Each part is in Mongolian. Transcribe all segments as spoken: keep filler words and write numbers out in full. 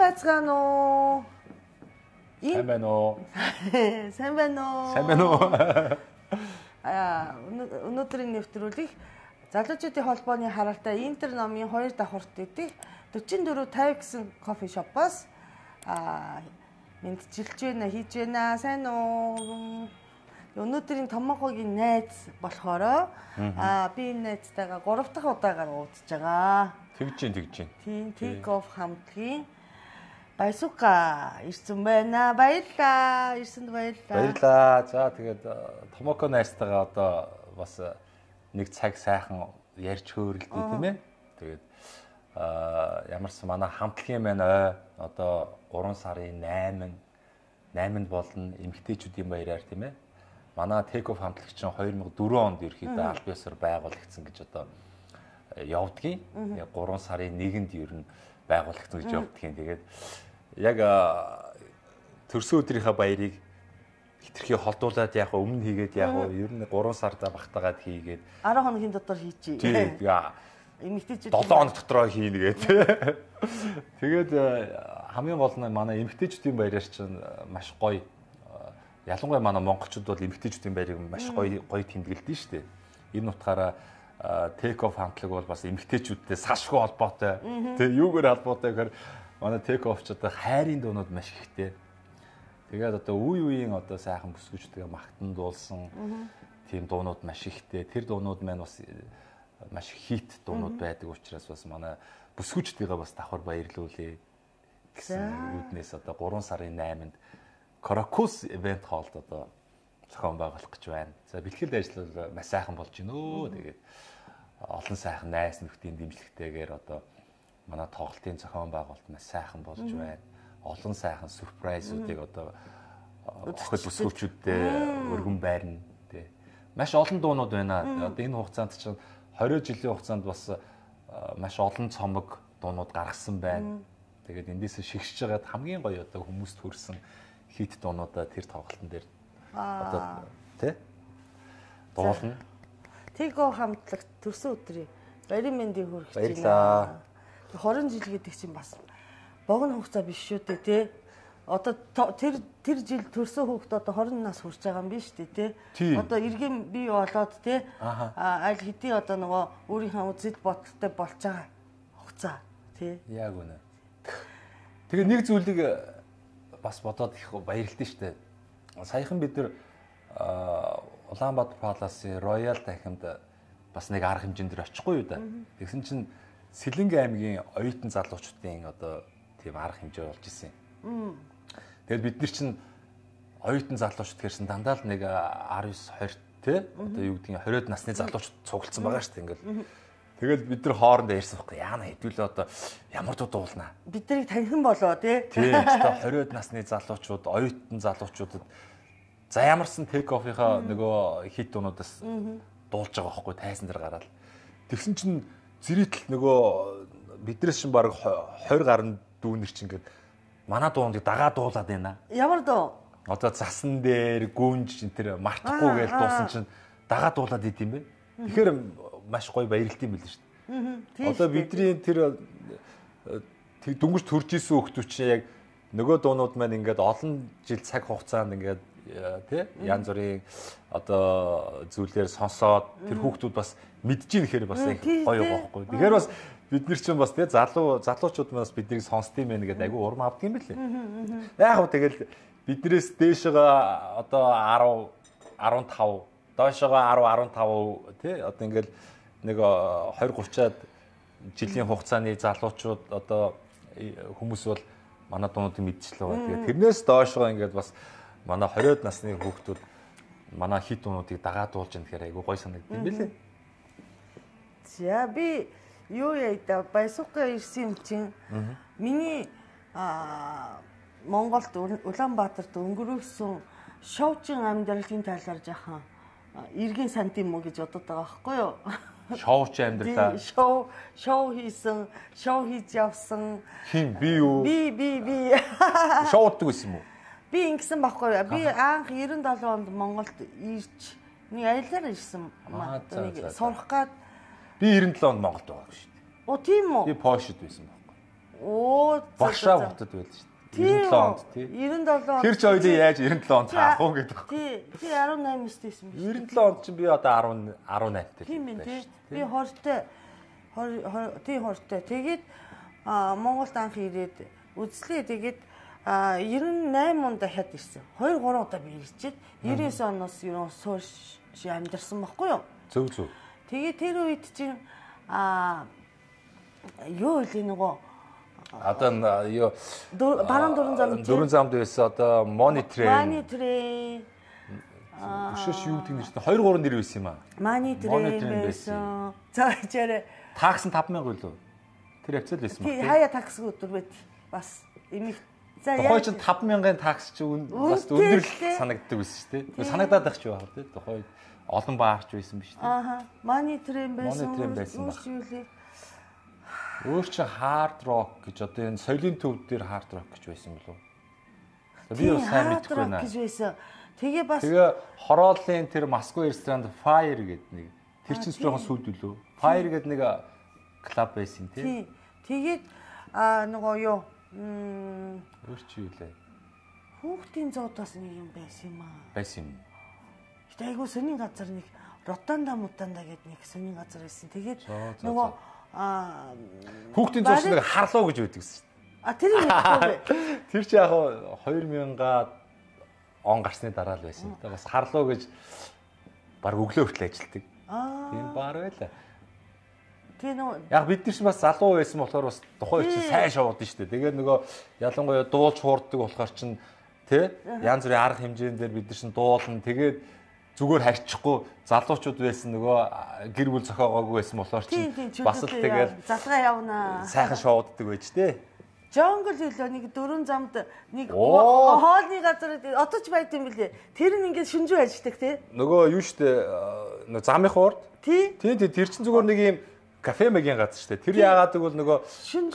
байцгаана уу? Сайн байна уу? Сайн байна уу? Сайн байна уу? Аа, өнөөдрийн нэвтрүүлэг залуучуудын холбооны харaalтай Интер номын хоёр давхурт гэдэг forty-four fifty гэсэн кофе шопоос аа мэдчилж байна, хийж байна. Сайн уу? Өнөөдрийн томоогийн найз болохоор аа би энэ найзтайгаа гурав дахь удаагаар уулзж байгаа. Тэгж чинь тэгж чинь. Тийм, Take Off хамтгийн Байсука ирсэн байна. Баярлалаа. Ирсэнд баярлалаа. Баярлалаа. За тэгээд Томоко найзтайгаа одоо бас нэг цаг сайхан ярьж хөөрөлдөө тийм ээ. Тэгээд аа ямарсан манай хамтлагийн маань ой одоо three сарын eight eight-нд болно эмэгтэйчүүдийн баяраар тийм ээ. Манай Take Off хамтлагч чинь two thousand four онд ерөөхдөө аль биесээр байгуулагдсан гэж одоо явдгийн. Тэгээ three сарын one-нд ер нь байгуулагдсан гэж явдгийн. Тэгээд яг төрсөн өдрийнхөө баярыг хитрхи холдуулаад яг өмнө хийгээд яг ер нь three сард багтаагаад хийгээд ten хоногийн дотор хийчихье. Тийм. Эмэгтэйчүүд seven хоног дотроо хийнэ гээд. Тэгээд хамгийн гол нь манай эмэгтэйчүүдийн баяраар чинь маш гоё. Ялангуяа манай монголчууд бол эмэгтэйчүүдийн баярыг маш гоё гоё тэмдэглэдэг шүү дээ. Энэ утгаараа Take Off хамтлаг бол бас эмэгтэйчүүдтэй сашгүй холбоотой. Тэгээ юугаар холбоотой гэхээр манай Take Off ч одоо хайрын дуунууд маш ихтэй. Тэгээд одоо үе үеийн одоо сайхан бүсгүйчдгээ магтан дуулсан тийм дуунууд маш ихтэй. Тэр дуунууд маань бас маш хит дуунууд байдаг учраас бас манай бүсгүйчдгээ бас давхар баярлуулъя гэсэн үүднээс одоо three сарын eight-нд Каракус event hall-д одоо зохион байгуулах гэж байна. За бэлтгэл ажил маш сайхан болж байна өө. Тэгээд олон сайхан найз нөхдийн дэмжлэгтэйгээр одоо манай тоглолтын зохион байгуулалт маш сайхан болж байна. Олон сайхан сюрпрайзуудыг одоо охид бүсгүйчүүдтэй өргөн байрна тий. Маш олон дуунууд байна. Одоо энэ хугацаанд чинь twenty жилийн хугацаанд бас маш олон цомог дуунууд гаргасан байна. Тэгээд эндээс шигшж байгаад хамгийн гоё одоо хүмүүст хүрсэн хит дуунуудаа тэр тоглолтын дээр одоо тий дуулна. Take Off хамтлаг төрсөн өдрийн баярын мэндийг хүргэж байна. Баярлалаа. twenty жил гэдэг чинь бас богино хугацаа биш шүү дээ тий. Одоо тэр тэр жил төрсөн хүүхэд одоо twenty нас хүрч байгаа юм биш үү тий. Одоо эргэм бий болоод тий аль хэдийн одоо нөгөө өөрийнхөө үзэл бодолтой болж байгаа хугацаа тий. Яг үнэ. Тэгээ нэг зүйлийг бас бодоод их баярлалтай шүү дээ. Саяхан бид нар Улаанбаатар Паласын Royal дахимд бас нэг арга хэмжээнд очихгүй юу да. Тэгсэн чинь Сэлэнг аймгийн оюутан залуучуудын одоо тийм арга хэмжээ болж исэн. Тэгээд бид нар чинь оюутан залуучууд гэсэн дандаа л нэг nineteen twenty те одоо юу гэдгийг twenty насны залуучууд цуглдсан байгаа шүү дээ ингээл. Тэгэл бид нар хоорондоо ярьсан байхгүй яана хэдүүлээ одоо ямар дуу дуулнаа. Бид нарыг таньхан болоо тий. Тийм одоо twenty насны залуучууд, оюутан залуучуудад за ямарсан Take Off-ийнхаа нөгөө хит дуунуудаас дуулж байгаа байхгүй тайсан дээр гараад. Тэгсэн чинь зэрэгтэл нөгөө биднээс чинь баг twenty гаруй дүүнэр чинь ингээд манай дуунд дагаа дуулаад байна. Ямар дуу? Одоо засан дээр гүнж тэр мартахгүй гэж дуусан чинь дагаа дуулаад идэм бэ. Тэгэхээр маш гоё баярлалт юм байл шүү дээ. Одоо бидний тэр дөнгөж төрж исэн хүмүүс чинь яг нөгөө дуунууд маань ингээд олон жил цаг хугацаанд ингээд тий янз бүрийн одоо зүйлээр сонсоод тэр хүүхдүүд бас мэдж ийн гэхээр бас гоё байхгүй. Тэгэхээр бас бид нар чинь бас тий залуу залуучууд маань бас биднийг сонсдгийм байх гэдэг айгүй урам авдаг юм билээ. Яг хөө тэгэл биднээс дээшгээ одоо ten fifteen доошогоо ten fifteen тий одоо ингээд нэг twenty thirty-аад жилийн хугацааны залуучууд одоо хүмүүс бол манай дуунуудыг мэдчихлээ байгаа. Тэгээд тэрнээс доошгоо ингээд бас манай twenty насны хүүхдүүд манай хит дуунуудыг дагаад дуулж байгаа гэхээр айгүй гоё санагдав юм билээ. За би юу яа Байсука ирсэн юм чинь миний аа Монголд Улаанбаатарт өнгөрөөсөн шоучин амьдралын талаар жаахан эргэн санд юм уу гэж бодод байгаа байхгүй юу? Шоуч амьдралаа. Шоу шоу хийсэн, шоу хийж явсан. Хин би юу? Би би би. Шоуддаг байсан юм уу? Би ингэсэн байхгүй юу? Би анх ninety-seven онд Монголд ирж нэг аяллаар ирсэн. Нэг сурах гад би ninety-seven онд Монголд байгаа шүү дээ. Оо тийм үү? Би Польшид байсан байхгүй. Оо Варшав хотод байлаа шүү дээ. девяносто онд тий. девяносто онд. Тэр ч ойлоо яаж девяносто онд хаах уу гэдэг. Тий. Тий десять восемь өстэйсэн биш. девяносто онд чинь би одоо десять десять тай. Тийм ээ тий. Би хортой тий хортой. Тэгээд Монголд анх ирээд үзлээ. Тэгээд девяносто восемь онд дахиад ирсэн. two three удаа би ирчихэд девяносто девять оноос ерөн сууш амьдэрсэн байхгүй юу? Зөв зөв. Тэгээд тэр үед чинь а юу вэ нөгөө одоо юу баруун дөрөн зам дөрөн замд байсан одоо Money Train. Money Train. Өшөөш юу гэдэг нэртэй two three нэр байсан юм аа. Money Train байсан. За ичээрээ такс нь five thousand байлуу. Тэр явцал байсан ба. Тий хаяа такс өдөр байт. Бас эмих за яа. Тухайн чинь five thousand-ын такс чи бас өндөр санагддаг байсан шүү дээ. Санагдаад байх ч байх тий. Тухайн олон баарч байсан биш тий. Ааха. Money Train байсан. Money Train байсан. Өөр чи hard rock гэж одоо энэ соёлын төв дээр hard rock гэж байсан болов. Би бас сайн мэдэхгүй байна. гэж байсан. Тэгээ бас Тэгээ хорооллын тэр Москва ресторанд Fire гэдэг нэг тэр чинь жоохон сүлд үлээ. Fire гэдэг нэг клуб байсан тий. Тэгээд аа нөгөө юу м өөр чи юу лээ. Хүүхдийн зоодоос нэг юм байсан юм аа. Байсан юм. Гэтэ айгуу сонин газар нэг Ротанда мутанда гэдэг нэг сонин газар байсан. Тэгээд нөгөө аа хүүхдийн зоос нэг харлуу гэж байдаг гэсэн. А тэр юм уу? Тэр чи яг two thousand он гарсны дараа л байсан. Тэгээ бас харлуу гэж баг өглөө хүртэл ажилладаг. Тийм баар байлаа. Тийм үү. Яг бид нар ч бас залуу байсан болохоор бас тухайн үед чинь сайн шоудсан шүү дээ. Тэгээд нөгөө ялангуяа дуулж хуурдаг болохоор чинь тий янз бүрийн арга хэмжээнд дээр бид нар чинь дуулна. Тэгээд зүгээр харьчихгүй залуучууд байсан нөгөө гэр бүл зохиогоогүй байсан болохоор чинь бас л тэгээд залгаа явнаа. Сайхан шоуддаг байж тээ. Жонгол хэлөө нэг дөрвөн замд нэг хоолны газар одоо ч байт юм билээ. Тэр нь ингээд шүнжүү ажилладаг тий. Нөгөө юу штэ нөгөө замын хуурд. Тий. Тий тий тэр чинь зүгээр нэг юм кафе мэгийн газар штэ. Тэр яагаад гэвэл нөгөө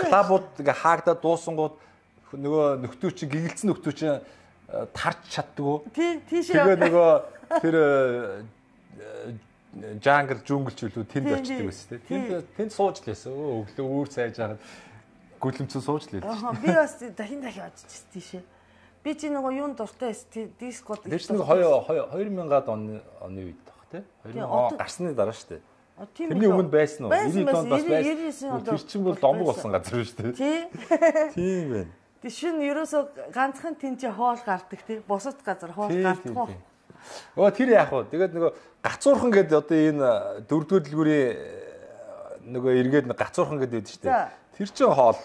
клабууд ингээ хаагдаад дуусангууд нөгөө нөхдөө чи гэгэлцэн нөхдөө чи тарч чаддгүй. Тий тийшээ. Тэгээ нөгөө тэр жангл жүнгл ч үлээ тэнд очдөг байсан тий. Тэнд тэнд сууж лээсэн. Өглөө үүр сайж хагаад гүлэмцэн сууж лээ. Аа би бас дахин дахин очиж тийшээ. Би чи нөгөө юунд дуртай дискод. Тэр чинь two thousand оны оны үед баг тий. two thousand гарсны дараа шүү дээ. Тэрний өмнө байсан уу? ninety онд бас байсан. Тэр чинь бол домбог болсон газар шүү дээ. Тий. Тийм байна. Тэг шин ерөөсө ганцхан тэнцээ хоол гардаг тий. Бусад газар хоол гардаггүй. Өө тэр яах вэ? Тэгээд нөгөө гацуурхан гэдэг одоо энэ дөрөвдүгээр дэлгүүрийн нөгөө эргээд гацуурхан гэдэг шүү дээ. Тэр чинь хоол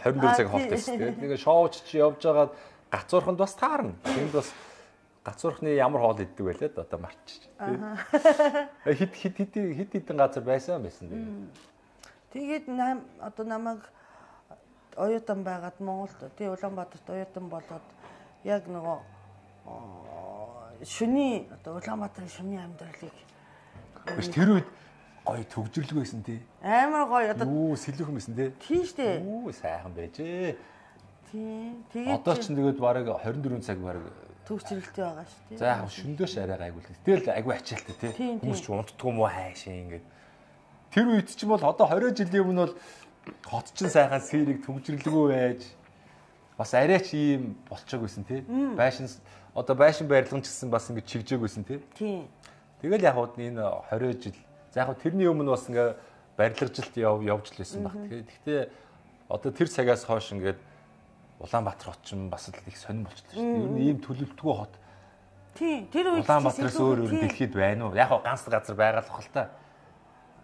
twenty-four цаг хоолтой шүү дээ. Тэгээ шоуч чи явж байгаад гацуурханд бас таарна. Тэнд бас гацуурхны ямар хоол иддэг байлээ да одоо марчиж. Хит хит хит хит хитэн газар байсан байсан Тэгээд тэгээ. одоо намайг оюутан байгаад Монголд тий Улаанбаатарт оюутан болоод яг нөгөө шүний одоо Улаанбаатарын шүний амьдралыг биш тэр үед гоё төгжрлэг байсан тий. Амар гоё одоо юу сэлүүхэн байсан тий. Тийм штэ. Юу сайхан байжээ. Тийм. Тэгээд одоо ч тэгээд бараг twenty-four цаг бараг төгжрэлтэй байгаа шүү тий. За яг шөндөөш арай гайгүй л. Тэгэл айгүй ачаалтай тий. Хүмүүс ч унтдгүй мó хайшаа ингээд. Тэр үед ч юм бол одоо twenty жилийн өмнө бол хот чин сайхан сэрэг төгжрлэгөө байж бас арай ч ийм болчихог байсан тий. Байшин одоо байшин барилган ч гэсэн бас ингээд чигжээг байсан тий. Тийм. Тэгэл яг хууд энэ twenty жил. За яг тэрний өмнө бас ингээд барилгажилт яв явж л байсан баг. Гэхдээ одоо тэр цагаас хойш ингээд Улаанбаатар хот ч бас л их сонирн болчихлоо шүү дээ. Ер нь ийм төлөвлөлтгүй хот. Тийм. Тэр үед Улаанбаатараас өөр өөр дэлхийд байна уу? Яг ганц газар байгаа л бахал та.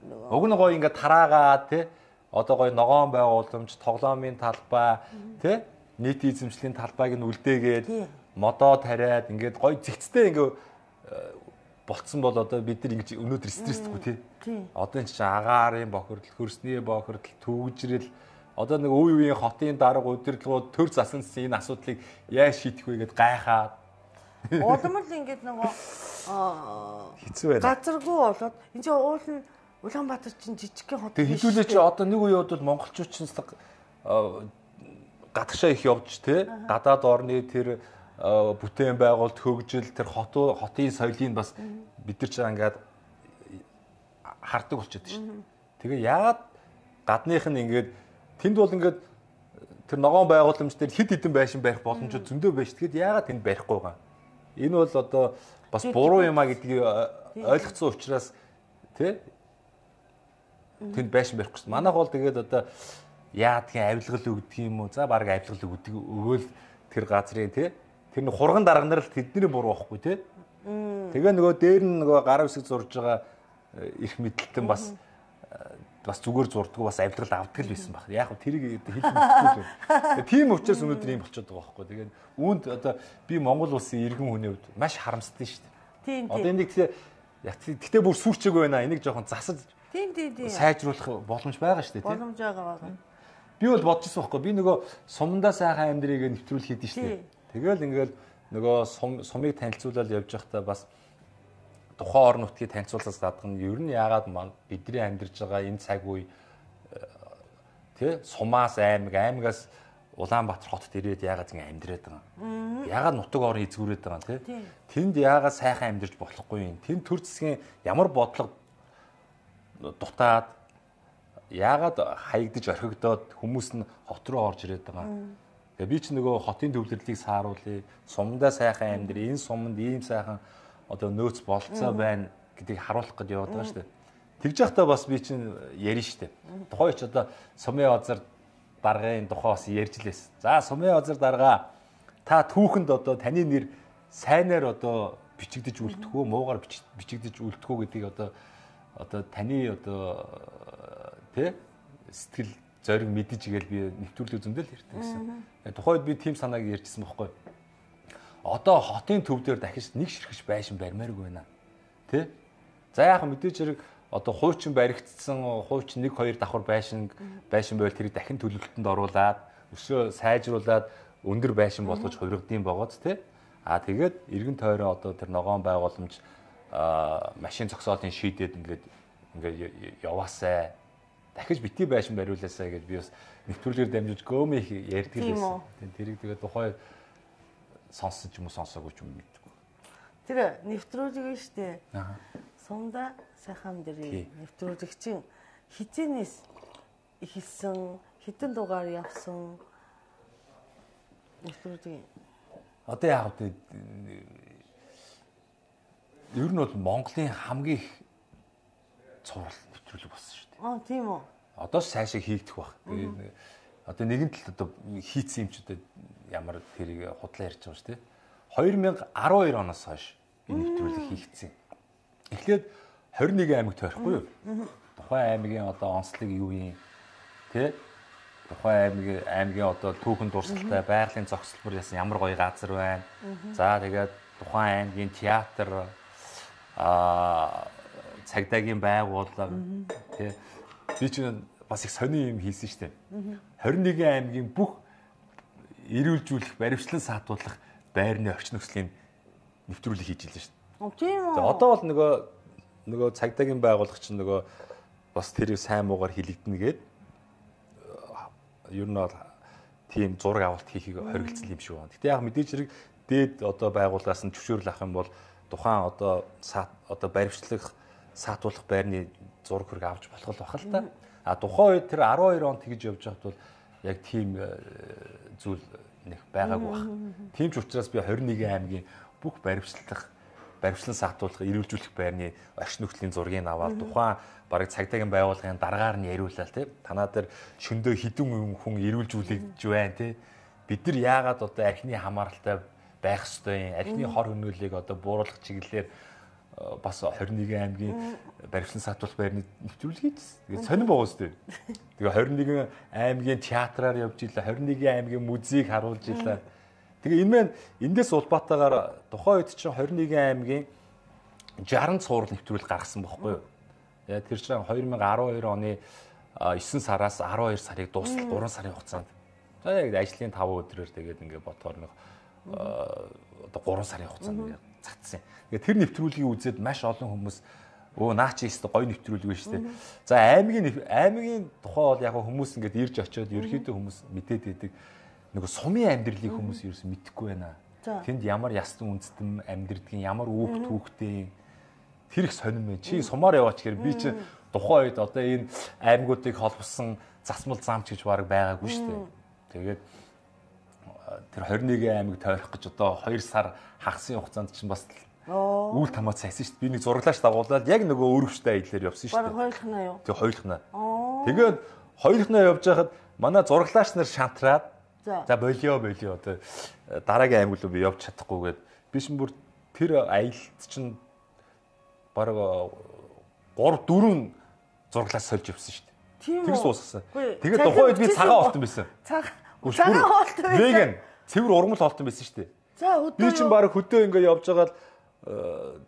Уг нь гоё ингээд тараагаад тий одоо гоё ногоон байгууламж, тоглоомын талбай тий нийт эзэмшлийн талбайг нь үлдээгээд модоо тариад ингээд гоё зэгцтэй ингээд болцсон бол одоо бид нар ингэж өнөөдөр стресстгүй тий. Одоо энэ чинь агаарын бохирдол, хөрсний бохирдол, төвжрэл одоо нэг үе үеийн хотын дарга удирдлагууд төр засан энэ асуудлыг яаж шийдэх вэ гэдээ гайхаад. Улам л ингэж нөгөө хэцүү байна. Газаргүй болоод энэ чинь уул нь Улаанбаатар чинь жижигхэн хот. Тэг хэдүүлээ чи одоо нэг үе удаа монголчууд чинь гадагшаа их явж тий гадаад орны тэр бүтээн байгуулалт хөгжил тэр хотын хотын соёлыг бас бид нар ч ингээд хардаг болчиход шүү дээ. Тэгээ яагаад гадных нь ингээд тэнд бол ингээд тэр ногоон байгууламж дээр хэд хэдэн байшин барих боломжууд зөндөө байж. Тэгэхэд яагаад тэнд барихгүй байгаа? Энэ бол одоо бас буруу юм а гэдгийг ойлгоцсон учраас тий тэнд байшин барихгүй шүү. Манайх бол тэгээд одоо яадгийн авилгал өгдөг юм уу? За баг авилгал өгдөг өгөөл тэр газрын тий тэр нэг хурган дарганаар л тэдний буруу байхгүй тий. Тэгээ нөгөө дээр нь нөгөө гар үсэг зурж байгаа их мэдлэлтэн бас бас зүгээр зурдгуу бас авилгал авдаг л байсан баг. Яг нь тэрийг хэлэх мэдэхгүй л. Тийм учраас өнөөдөр юм болчиход байгаа байхгүй. Тэгээд үүнд одоо би Монгол улсын иргэн хүний хувьд маш харамсдаг шүү дээ. Тийм тийм. Одоо энийг тэгээ тэгтээ бүр сүрчээгүй байна. Энийг жоохон засаж тийм тийм тийм. Сайжруулах боломж байгаа шүү дээ. Боломж байгаа байгаа. Би бол бодож байсан байхгүй. Би нөгөө сумдаа сайхан амьдрыг нэвтрүүлэх хийдэж шүү дээ. Тэгэл ингээл нөгөө сумыг танилцуулаад явж байхдаа бас тухайн орон нутгийг танилцуулахаас гадна ер нь яагаад бидний амьдарч байгаа энэ цаг үе тий Сумаас аймаг аймагаас Улаанбаатар хотод ирээд яагаад ингэ амьдраад байгаа. Яагаад нутаг орон эзгүүрээд байгаа тий. Тэнд яагаад сайхан амьдарч болохгүй юм. Тэнд төр засгийн ямар бодлого дутаад яагаад хаягдж орхигдоод хүмүүс нь хот руу орж ирээд байгаа. Тэгээ би ч нөгөө хотын төвлөрлийг сааруулъя. Сумдаа сайхан амьдрий. Энэ суманд ийм сайхан одоо нөөц болцоо байна гэдгийг харуулах гэж яваад байгаа шүү дээ. Тэгж явахдаа бас би чинь ярина шүү дээ. Тухайн ч одоо сумын озар даргын тухай бас ярьж лээс. За сумын озар дарга та түүхэнд одоо таны нэр сайнаар одоо бичигдэж үлдэх үү, муугаар бичигдэж үлдэх үү гэдгийг одоо одоо таны одоо тэ сэтгэл зориг мэдэж игээл би нэвтрүүлэг зөндөл ярьдаг гэсэн. Тухайд би тийм санааг ярьжсэн байхгүй. Одоо хотын төв дээр дахиж нэг ширхэж байшин барьмааргүй байна. Тэ? За яах мэдээж хэрэг одоо хуучин баригдсан хуучин нэг хоёр давхар байшин байшин байвал тэрийг дахин төлөвлөлтөнд оруулаад өсөө сайжруулад өндөр байшин болгож хувиргадсан богоц тэ. Аа тэгээд эргэн тойроо одоо тэр ногоон байгууламж аа машин зогсоолын шийдээд ингээд ингээд яваасай. Дахиж бити байшин бариулаасай гэж би бас нэвтрүүлгээр дамжуулж гөөмэй ярьдаг л байсан. Тэрийг тэгээд тухай сонсож юм уу сонсоогүй ч юм мэдгүй. Тэр нэвтрүүлэг шүү дээ. Аа. Сумда сайхан дэрий нэвтрүүлэг чинь хизэнээс ихэлсэн хэдэн дугаар явсан нэвтрүүлэг. Одоо яг үү ер нь бол Монголын хамгийн их цуврал нэвтрүүлэг болсон шүү дээ. Аа тийм үү. Одоо цаашаа хийгдэх баг. Тэгээ одоо нэгэн тал одоо хийцэн юм ч одоо ямар тэрийг худлаа ярьж байгаа шүү дээ. хоёр мянга арван хоёр оноос хойш энэ нэвтрүүлэг хийгдсэн. Эхлээд хорин нэгэн аймаг тойрохгүй юу? Тухайн аймгийн одоо онцлог юу юм тий? Тухайн аймгийн аймгийн одоо түүхэн дурсгалтай байгалийн зохицол бүр ясан ямар гоё газар байна. За тэгээд тухайн аймгийн театр аа цагдаагийн байгууллага тий? Би чинь бас их сони юм хийсэн шүү дээ. хорин нэгэн аймгийн бүх эрүүлжүүлэх, баримтлан саатуулах байрны орчин нөхцөлийн нэвтрүүлэг хийж илээ шүү дээ. Тийм үү. За одоо бол нөгөө нөгөө цагдаагийн байгууллага чинь нөгөө бас тэрийг сайн муугаар хилэгдэнэ гээд ер нь бол тийм зураг авалт хийхийг хоригдсан юм шиг байна. Гэтэ яг мэдээж хэрэг дээд одоо байгууллагаас нь зөвшөөрөл авах юм бол тухайн одоо одоо баримтлах, саатуулах байрны зураг хөрөг авч болох л бах л та. А тухайн үед тэр арван хоёр онд тэгж явж байхад бол яг тийм зүйл нэг байгаагүй баг. Тийм ч учраас би хорин нэгэн аймгийн бүх баримтлах, баримтлан саатуулах, эрүүлжүүлэх байрны орчин нөхцөлийн зургийг аваад тухайн бараг цагдаагийн байгууллагын дараагаар нь яриулаад тий. Танаа дээр шөндөө хідэн хүн эрүүлжүүлж байна тий. Бид нар яагаад одоо архины хамааралтай байх ёстой юм? Архины хор хөнөөлийг одоо бууруулах чиглэлээр бас хорин нэгэн аймгийн баримтлан саатуулах байрны нэвтрүүлэг хийсэн. Тэгээд сонирн байгаа үстэй. Тэгээ хорин нэгэн аймгийн театраар явж илаа, хорин нэгэн аймгийн музейг харуулж илаа. Тэгээ энэ маань эндээс улбаатаагаар тухайн үед чинь хорин нэгэн аймгийн шаран цуврал нэвтрүүлэг гаргасан байхгүй юу? Яа тэр чинь хоёр мянга арван хоёр оны есөн сараас арван хоёр сарыг дуустал гурван сарын хугацаанд. За яг ажлын таван өдрөөр тэгээд ингээд бодохоор нэг одоо гурван сарын хугацаанд цацсан. Тэгээ тэр нэвтрүүлгийг үзээд маш олон хүмүүс өө наа чи өстө гоё нэвтрүүлэг байна шүү дээ. За аймгийн аймгийн тухай бол яг хүмүүс ингээд ирж очиод ерөөхдөө хүмүүс мэдээд байдаг. Нөгөө сумын амьдралыг хүмүүс ерөөс мэдэхгүй байна. Тэнд ямар ястан үндэстэн амьдрдгийг, ямар үүх түүхтэй тэр их сонирм байна. Чи сумаар яваач гэхээр би чи тухайн үед одоо энэ аймагуудыг холбосон засмал замч гэж баг байгаагүй шүү дээ. Тэгээд тэр двадцать нэг аймаг тойрох гэж одоо хоёр сар хагасны хугацаанд чинь бас үйл тамаац хайсан шүү дээ. Би нэг зураглаач дагуулаад яг нөгөө өрөвчтэй аяллаар явсан шүү дээ. Бараг хоёулахнаа юу? Тэг хоёулахнаа. Тэгээд хоёулахнаа явж байхад манай зураглаач нар шантраад за болио болио одоо дараагийн аймаг руу би явж чадахгүйгээд би шин бүр тэр аялалд чинь бараг гурав дөрвөн зураглаач сольж явсан шүү дээ. Тэр суусгасан. Тэгээд тухайн үед би цагаан олтон байсан. Цаг цагаан олтон байсан. Веган цэвэр ургамал олтон байсан шүү дээ. За өдөө би чинь бараг хөдөө ингээ явж байгаа л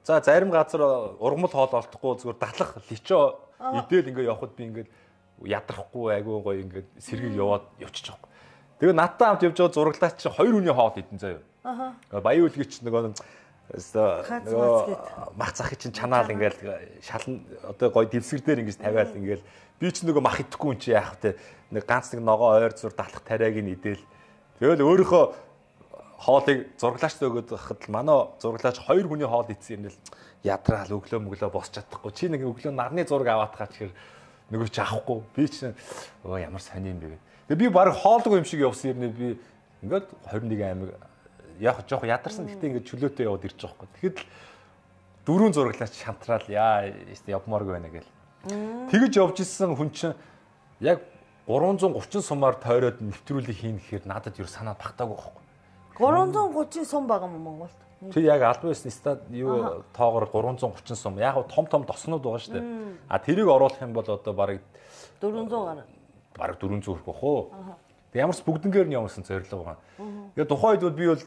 за зарим газар ургамал хоол олдохгүй зүгээр датлах личо идэл ингээ явхад би ингээ ядрахгүй айгүй гоё ингээ сэргийг яваад явчих жоохгүй. Тэгээ надтай хамт явж байгаа зураглаач чинь хоёр хүний хоол идэн заяа. Аха. Баян үлгийч нөгөө нөгөө мах захыг чинь чанаал ингээл шалан одоо гоё дэвсгэр дээр ингэж тавиал ингээл би ч нөгөө мах идэхгүй юм чи яах вэ? Нэг ганц нэг ногоо ойр зур датлах тариаг нь идэл. Тэгэл өөрийнхөө хоолыг зураглаачтай өгöd байхад л манай зураглаач хоёр хүний хоол идсэн юм л ядраал өглөө мөглөө босч чадахгүй. Чи нэг өглөө нарны зураг аваад хаа тэгэхээр нөгөө ч авахгүй. Би ч өө ямар сони юм бэ гэх. Тэгээ би баг хоолгүй юм шиг явсан юм би ингээд двадцать нэг аймаг яг жоох ядарсан гэхдээ ингээд чөлөөтэй яваад ирж байгаа байхгүй. Тэгэхэд л дөрвөн зураглаач шантраал яа явмааргүй байна гэл. Тэгэж явж исэн хүн чинь яг гурван зуун гучин сумаар тойроод нэвтрүүлэг хийн гэхээр надад юу санаа багтаагүй байхгүй. гурван зуун гучин сум байгаа юм Монголд. Тэг яг албан ёсны стад юу тоогоор гурван зуун гучин сум. Яг том том тоснууд байгаа шүү дээ. А тэрийг оруулах юм бол одоо бараг дөрвөн зуун гаруй. Бараг дөрвөн зуун хүрэх бохоо. Тэг ямарс бүгднгээр нь явуулсан зорилго байгаа. Тэгээ тухайн үед би бол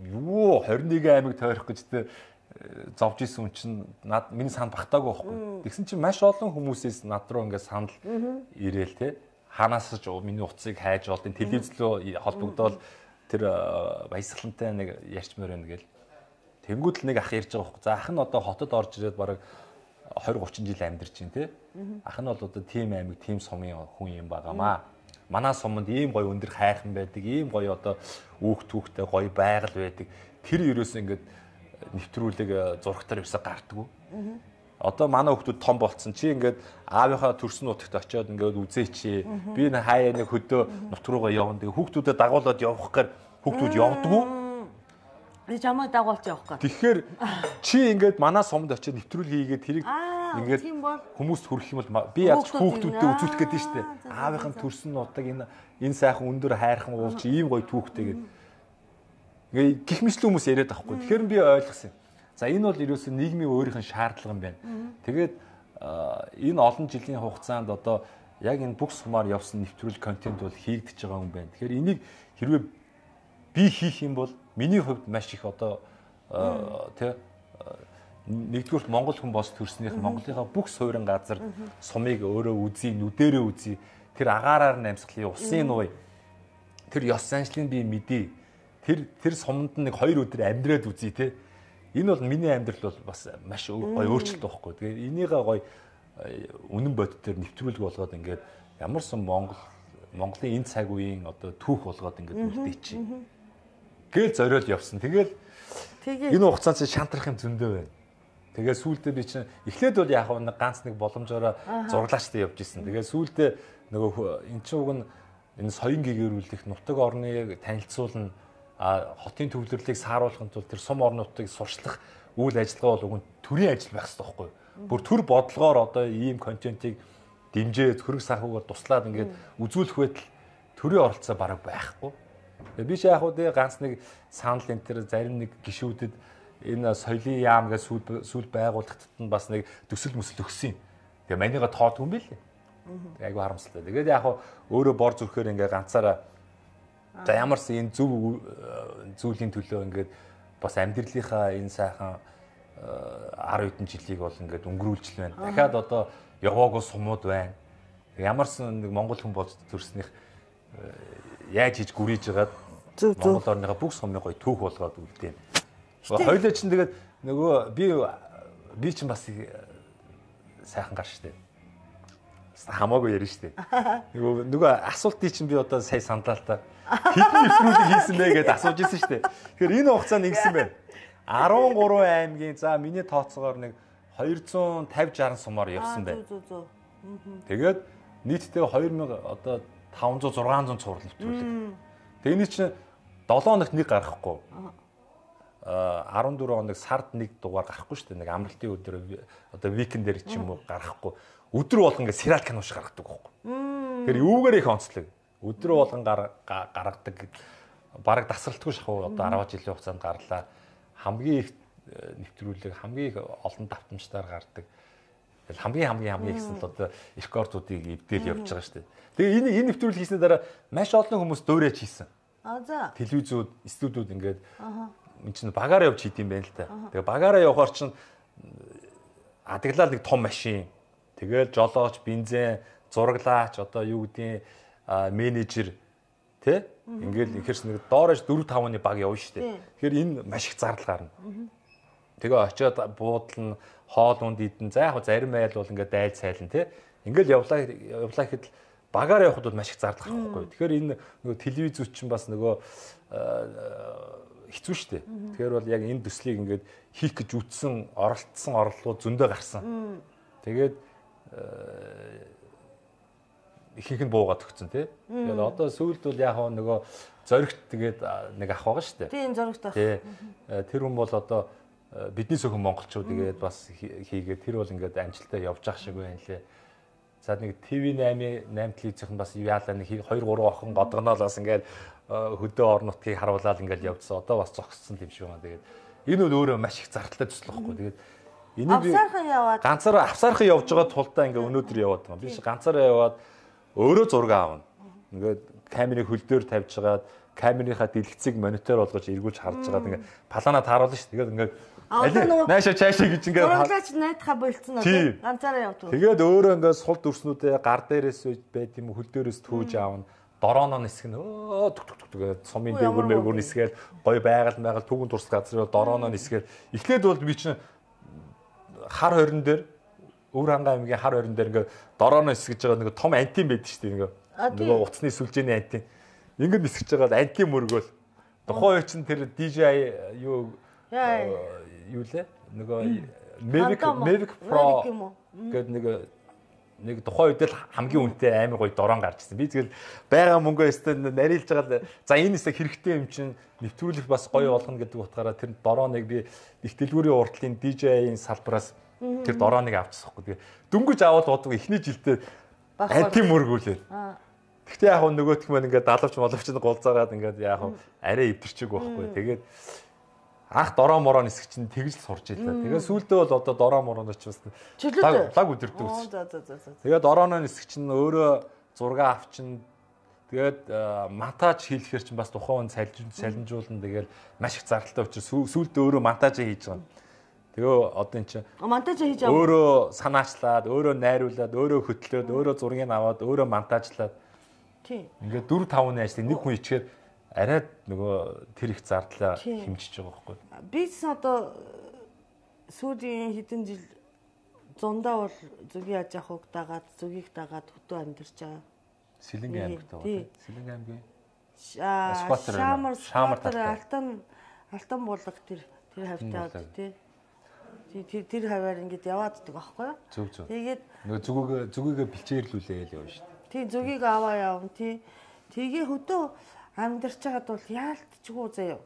юу двадцать нэг аймаг тойрох гэж тэ зовж исэн хүн чинь над миний санд багтаагүй байхгүй. Тэгсэн чинь маш олон хүмүүсээс над руу ингээд санал ирээл те. Ханаас ч миний утсыг хайж болдیں۔ Телевизлөө холбогдоод тэр баясгалантай нэг ярьчмаар байна гээл. Тэнгүүд л нэг ах ярьж байгаа байхгүй. За ах нь одоо хотод орж ирээд бараг двадцать тридцать жил амьдарч байна те. Ах нь бол одоо тим аймаг, тим сумын хүн юм байгаамаа. Манай суманд ийм гоё өндөр хайрхан байдаг, ийм гоё одоо үүх түүхтэй гоё байгаль байдаг. Тэр ерөөс ингээд нэвтрүүлэг зурагтаар ерөөсө гардггүй. Одоо манай хүмүүс том болцсон. Чи ингээд аавынхаа төрсөн нутагт очиод ингээд үзээч. Би энэ хаяа нэг хөдөө нут руугаа явна. Тэгээ хүүхдүүдэд дагуулад явах гэхээр хүүхдүүд явдггүй. Би чамайг дагуулж явах гэж. Тэгэхээр чи ингээд манай сумд очиод нэвтрүүлэг хийгээд тэрийг ингээд хүмүүст хүргэх юм бол би яаж хүүхдүүдэд үзүүлэх гэдэг нь шүү дээ. Аавынхаа төрсөн нутаг энэ энэ сайхан өндөр хайрхан уулч ийм гоё түүхтэй гэдэг. Ингээ гих мэтлэн хүмүүс яриад байхгүй. Тэгэхээр би ойлгосон. За энэ бол ерөөсөө нийгмийн өөрийнх нь шаардлага юм байна. Тэгээд энэ олон жилийн хугацаанд одоо яг энэ бүх сумаар явсан нэвтрүүлэг контент бол хийгдэж байгаа юм байна. Тэгэхээр энийг хэрвээ би хийх юм бол миний хувьд маш их одоо тий нэгдүгээр Монгол хүн бос төрснийх Монголынхаа бүх суурин газар сумыг өөрөө үзье, нүдэрээ үзье. Тэр агаараар намсгалын усын нуй тэр ёс заншлыг би мэдээ. Тэр тэр суманд нэг хоёр өдөр амьдраад үзье те. Энэ бол миний амьдрал бол бас маш гоё өөрчлөлт байхгүй. Тэгээ энийгээ гоё үнэн бодит төр нэвтрүүлэг болгоод ингээд ямар сан Монгол Монголын энэ цаг үеийн одоо түүх болгоод ингээд үлдээчих. Гээл зориод явсан. Тэгэл энэ хугацаанд шантрах юм зөндөө байна. Тэгээ сүүлдээ би чинь эхлээд бол яг нэг ганц нэг боломжоор зураглаачтай явж исэн. Тэгээ сүүлдээ нөгөө эн чинь уг нь энэ соён гэгэрүүлэх нутаг орныг танилцуулна, хотын төвлөрлийг сааруулахын тулд тэр сум орнуудыг сурчлах үйл ажиллагаа бол уг нь төрийн ажил байх хэрэгтэй байхгүй юу? Бүр төр бодлогоор одоо ийм контентийг дэмжиж хөрөг санхугаар туслаад ингээд үзүүлэх байтал төрийн оролцоо бараг байхгүй. Би ч яг уу ганц нэг санал энэ төр зарим нэг гишүүдэд энэ соёлын яам гэж сүүл сүүл байгууллагад нь бас нэг төсөл мөсөл өгсөн юм. Тэгээ манийга тоодгүй юм билээ. Тэгээ айгүй харамсалтай. Тэгээд яг өөрөө бор зүрхээр ингээ ганцаараа за ямарс энэ зөв зүйлийн төлөө ингээд бас амьдралынхаа энэ сайхан арав хэдэн жилийг бол ингээд өнгөрүүлж л байна. Дахиад одоо яваагүй сумууд байна. Ямарс нэг монгол хүн болж төрснийх яаж хийж гүрийж хагаад Монгол орныхаа бүх сумыг гоё түүх болгоод үлдээн. Хоёлоо чинь тэгээд нөгөө би би чинь бас сайхан гар штэ. Хамаагүй ярина штэ. Нөгөө нөгөө асуултыг чинь би одоо сая сандлаа л та. Хэдэн нэвтрүүлэг хийсэн бэ гэдээ асууж ирсэн штэ. Тэгэхээр энэ хугацаанд ингэсэн байна. арван гурван аймгийн за миний тооцоогоор нэг хоёр зуун тавьж шаран сумаар явсан байна. Тэгээд нийтдээ хоёр мянга одоо таван зуун зургаан зуун цуврал нэвтрүүлэг. Тэгээ энэ чинь долоо хоногт нэг гарахгүй. Аа арван дөрвөн хоног сард нэг дугаар гарахгүй шүү дээ. Нэг амралтын өдөр одоо викендэр ч юм уу гарахгүй. Өдөр болгон ингээ сериал кино шиг гаргадаг байхгүй. Тэгэхээр юугаар их онцлог. Өдөр болгон гаргадаг. Бараг тасралтгүй шахуу одоо арван жилийн хугацаанд гарлаа. Хамгийн их нэвтрүүлэг, хамгийн их олон давтамжтайгаар гардаг. Хамгийн хамгийн хамгийн ихсэн л одоо рекордуудыг эвдээл явж байгаа шүү дээ. Тэгээ энэ энэ нэвтрүүлэг хийсний дараа маш олон хүмүүс дөөрэж хийсэн. Аа за. Телевизүүд, студиуд ингээд энэ чинь багаараа явж хийд юм байна л та. Тэгээ багаараа явахаар чинь адаглал нэг том машин. Тэгээд жолооч, бензин, зураглаач, одоо юу гэдгийг менежер тий? Ингээл ихэрс нэг доорож дөрөв тавны баг явна шүү дээ. Тэгэхээр энэ маш их зардал гарна. Тэгээ очиод буудлын хоол унд идэн за яг зарим айл бол ингээд дайл сайлан тий. Ингээл явлаа явлаа гэхэд багаар явхад бол маш их зардал гарахгүй. Тэгэхээр энэ нөгөө телевизүүд чинь бас нөгөө хэцүү шүү дээ. Тэгэхээр бол яг энэ төслийг ингээд хийх гэж үтсэн, оролцсон орлогууд зөндөө гарсан. Тэгээд ихэнх нь буугаад өгсөн тий. Тэгээд одоо сүүлд бол яг нөгөө зоригт тэгээд нэг ах байгаа шүү дээ. Тийм зоригт ах. Тий. Тэр хүн бол одоо бидний зөвхөн монголчууд тэгээд бас хийгээд тэр бол ингээд амжилттай явж ах шиг байна лээ. За нэг ТV восемь восемь телевизийнх нь бас яалаа нэг two three охин годгоноо л бас ингээд хөдөө орон нутгийг харуулаад ингээд явжсан. Одоо бас зогссон юм шиг байна. Тэгээд энэ бол өөрөө маш их зардалтай төсөл واخгүй. Тэгээд энийг би ганцаараа авсаархан явж байгаа тулдаа ингээд өнөөдөр яваад байгаа. Би ганцаараа яваад өөрөө зураг аавна. Ингээд камерыг хөл дээр тавьж хагаад камерынхаа дэлгэцийг монитор болгож эргүүлж харж байгаад ингээд палана тааруулна шүү. Тэгээд ингээд наашаа чаашаа гэж ингээд зураглаач найдахаа болцсон уу ганцаараа явдаг. Тэгээд өөрөө ингээд сул дүрснүүдээ гар дээрээс байд юм хөл дээрээс түүж аавна. Дорооно нисгэн өө түг түг түг цомын дээгүр мэгүр нисгээл гой байгаль байгаль түүгэн турс газар дорооно нисгээл эхлээд бол би чинь хар хорин дээр Өвөр хангаа аймгийн хар хорин дээр ингээд дорооно нисгэж байгаа нэг том антин байдаг шүү дээ ингээд нөгөө уцсны сүлжээний антин ингээд нисгэж байгаа антин мөргөөл тухайн үе чинь тэр ди джей юу юу лээ нөгөө Mavic Mavic Pro гэдэг нэг нэг тухайн үед л хамгийн үнэтэй амар гоё дорон гарч ирсэн. Би тэгэл байгаа мөнгөө өстө нарилж байгаа л за энэ хэсэг хэрэгтэй юм чинь нэвтрүүлэх бас гоё болгоно гэдэг утгаараа тэр дороныг би их дэлгүүрийн уртлын ди джей-ийн салбараас тэр дороныг авчихсахгүй. Тэгээ дөнгөж аваад боддог эхний жилдээ антим мөргүүлээд. Гэхдээ яг нөгөөх маань ингээд далавч моловч гулзаагаад ингээд яг арай эвдэрчээг байхгүй. Тэгээд ах дороо мороо нисгч чинь тэгж л сурч ийлээ. Тэгээ сүүлдээ бол одоо дороо мороо ч бас лаг өдөрдөг ус. Тэгээд дорооно нисгч чинь өөрөө зураг авчин тэгээд монтаж хийлэхэр чинь бас тухайн салинжуулна тэгээд маш их зардалтай учраас сүүлдээ өөрөө монтаж хийж байгаа. Тэгээ одоо эн чинь монтаж хийж байгаа. Өөрөө санаачлаад, өөрөө найруулад, өөрөө хөтлөөд, өөрөө зургийг аваад, өөрөө монтажлаад. Тийм. Ингээд four five ажлыг нэг хүн ичгээр арай нөгөө тэр их зардлаа хэмжиж байгаа байхгүй. Би ч одоо сүүлийн хэдэн жил зундаа бол зүгийн аж ахуйг дагаад зүгийг дагаад хөтөө амьдарч байгаа. Сэлэнгийн аймагт байгаа. Сэлэнгийн аймгийн Шаамар Шаамар алтан алтан булаг тэр тэр хавтаад тий. Тэр тэр хаваар ингэж яваад идэх байхгүй юу? Зөв зөв. Тэгээд нөгөө зүгөө зүгийгээ бэлчээрлүүлээл явна шүү дээ. Тий зүгийг аваа явна тий. Тэгээ хөтөө амьдарч байгаад бол яалтчгүй заяа.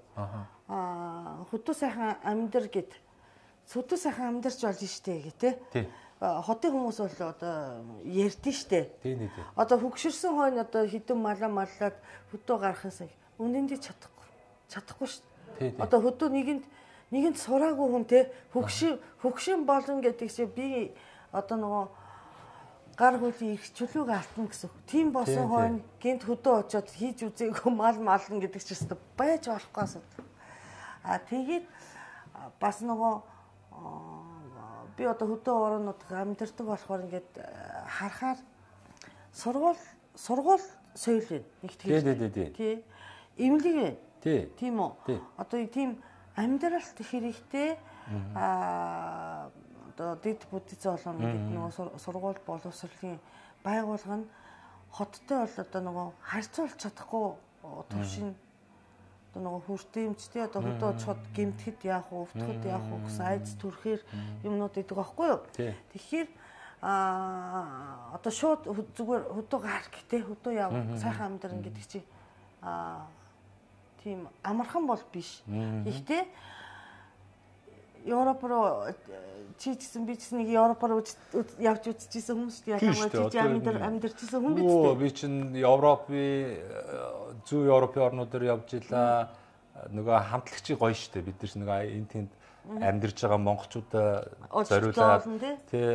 Аа хөтөө сайхан амьдар гэд хөтөө сайхан амьдарч болно штэ гэ тэ. Хотын хүмүүс бол одоо ярьдэн штэ. Тий нэг. Одоо хөгшөрсөн хойно одоо хідэн малаа маллаад хөтөө гарахаас үнэндээ чадахгүй. Чадахгүй штэ. Одоо хөтөө нэгэнд нэгэнд сураагүй хүн тэ хөгшин хөгшин болно гэдэг чинь би одоо нөгөө гар хөлийг их чөлөөг алтна гэсэн. Тийм босон хойно гинт хөдөө очоод хийж үзээгүй мал мална гэдэг чинь өстө байж болохгүй асуудал. А тэгээд бас нөгөө би одоо хөдөө орнууд амьдэрдэг болохоор ингээд харахаар сургууль сургууль соёл вэ нэг тийм. Тий, тий, тий. Тий. Имлэг вэ? Тий. Тийм үү? Одоо тийм амьдралт хэрэгтэй аа одоо дэд бүтц олон гэдэг нөгөө сургууль боловсролын байгууллага нь хоттой бол одоо нөгөө харьцуулж чадахгүй төвшин одоо нөгөө хүртээмжтэй одоо хөдөө очиход гэмтгэд яах вэ, өвтөхөд яах вэ гэсэн айц төрхээр юмнууд идэг байхгүй юу? Тэгэхээр аа одоо шууд зүгээр хөдөө гар гэтээ хөдөө яв сайхан амьдрын гэдэг чи аа тийм амархан бол биш. Гэхдээ Европ руу чи гэсэн би ч нэг Европ руу явж үзчихсэн хүмүүс шүү дээ. Ялангуяа чи амьдар амьдарчсэн хүн биз дээ. Оо би чинь Европын зүүн Европын орнуудаар явж илаа. Нөгөө хамтлагчийн гоё шүү дээ. Бид нар нэг энэ тэнд амьдарч байгаа монголчуудаа зориулаад тий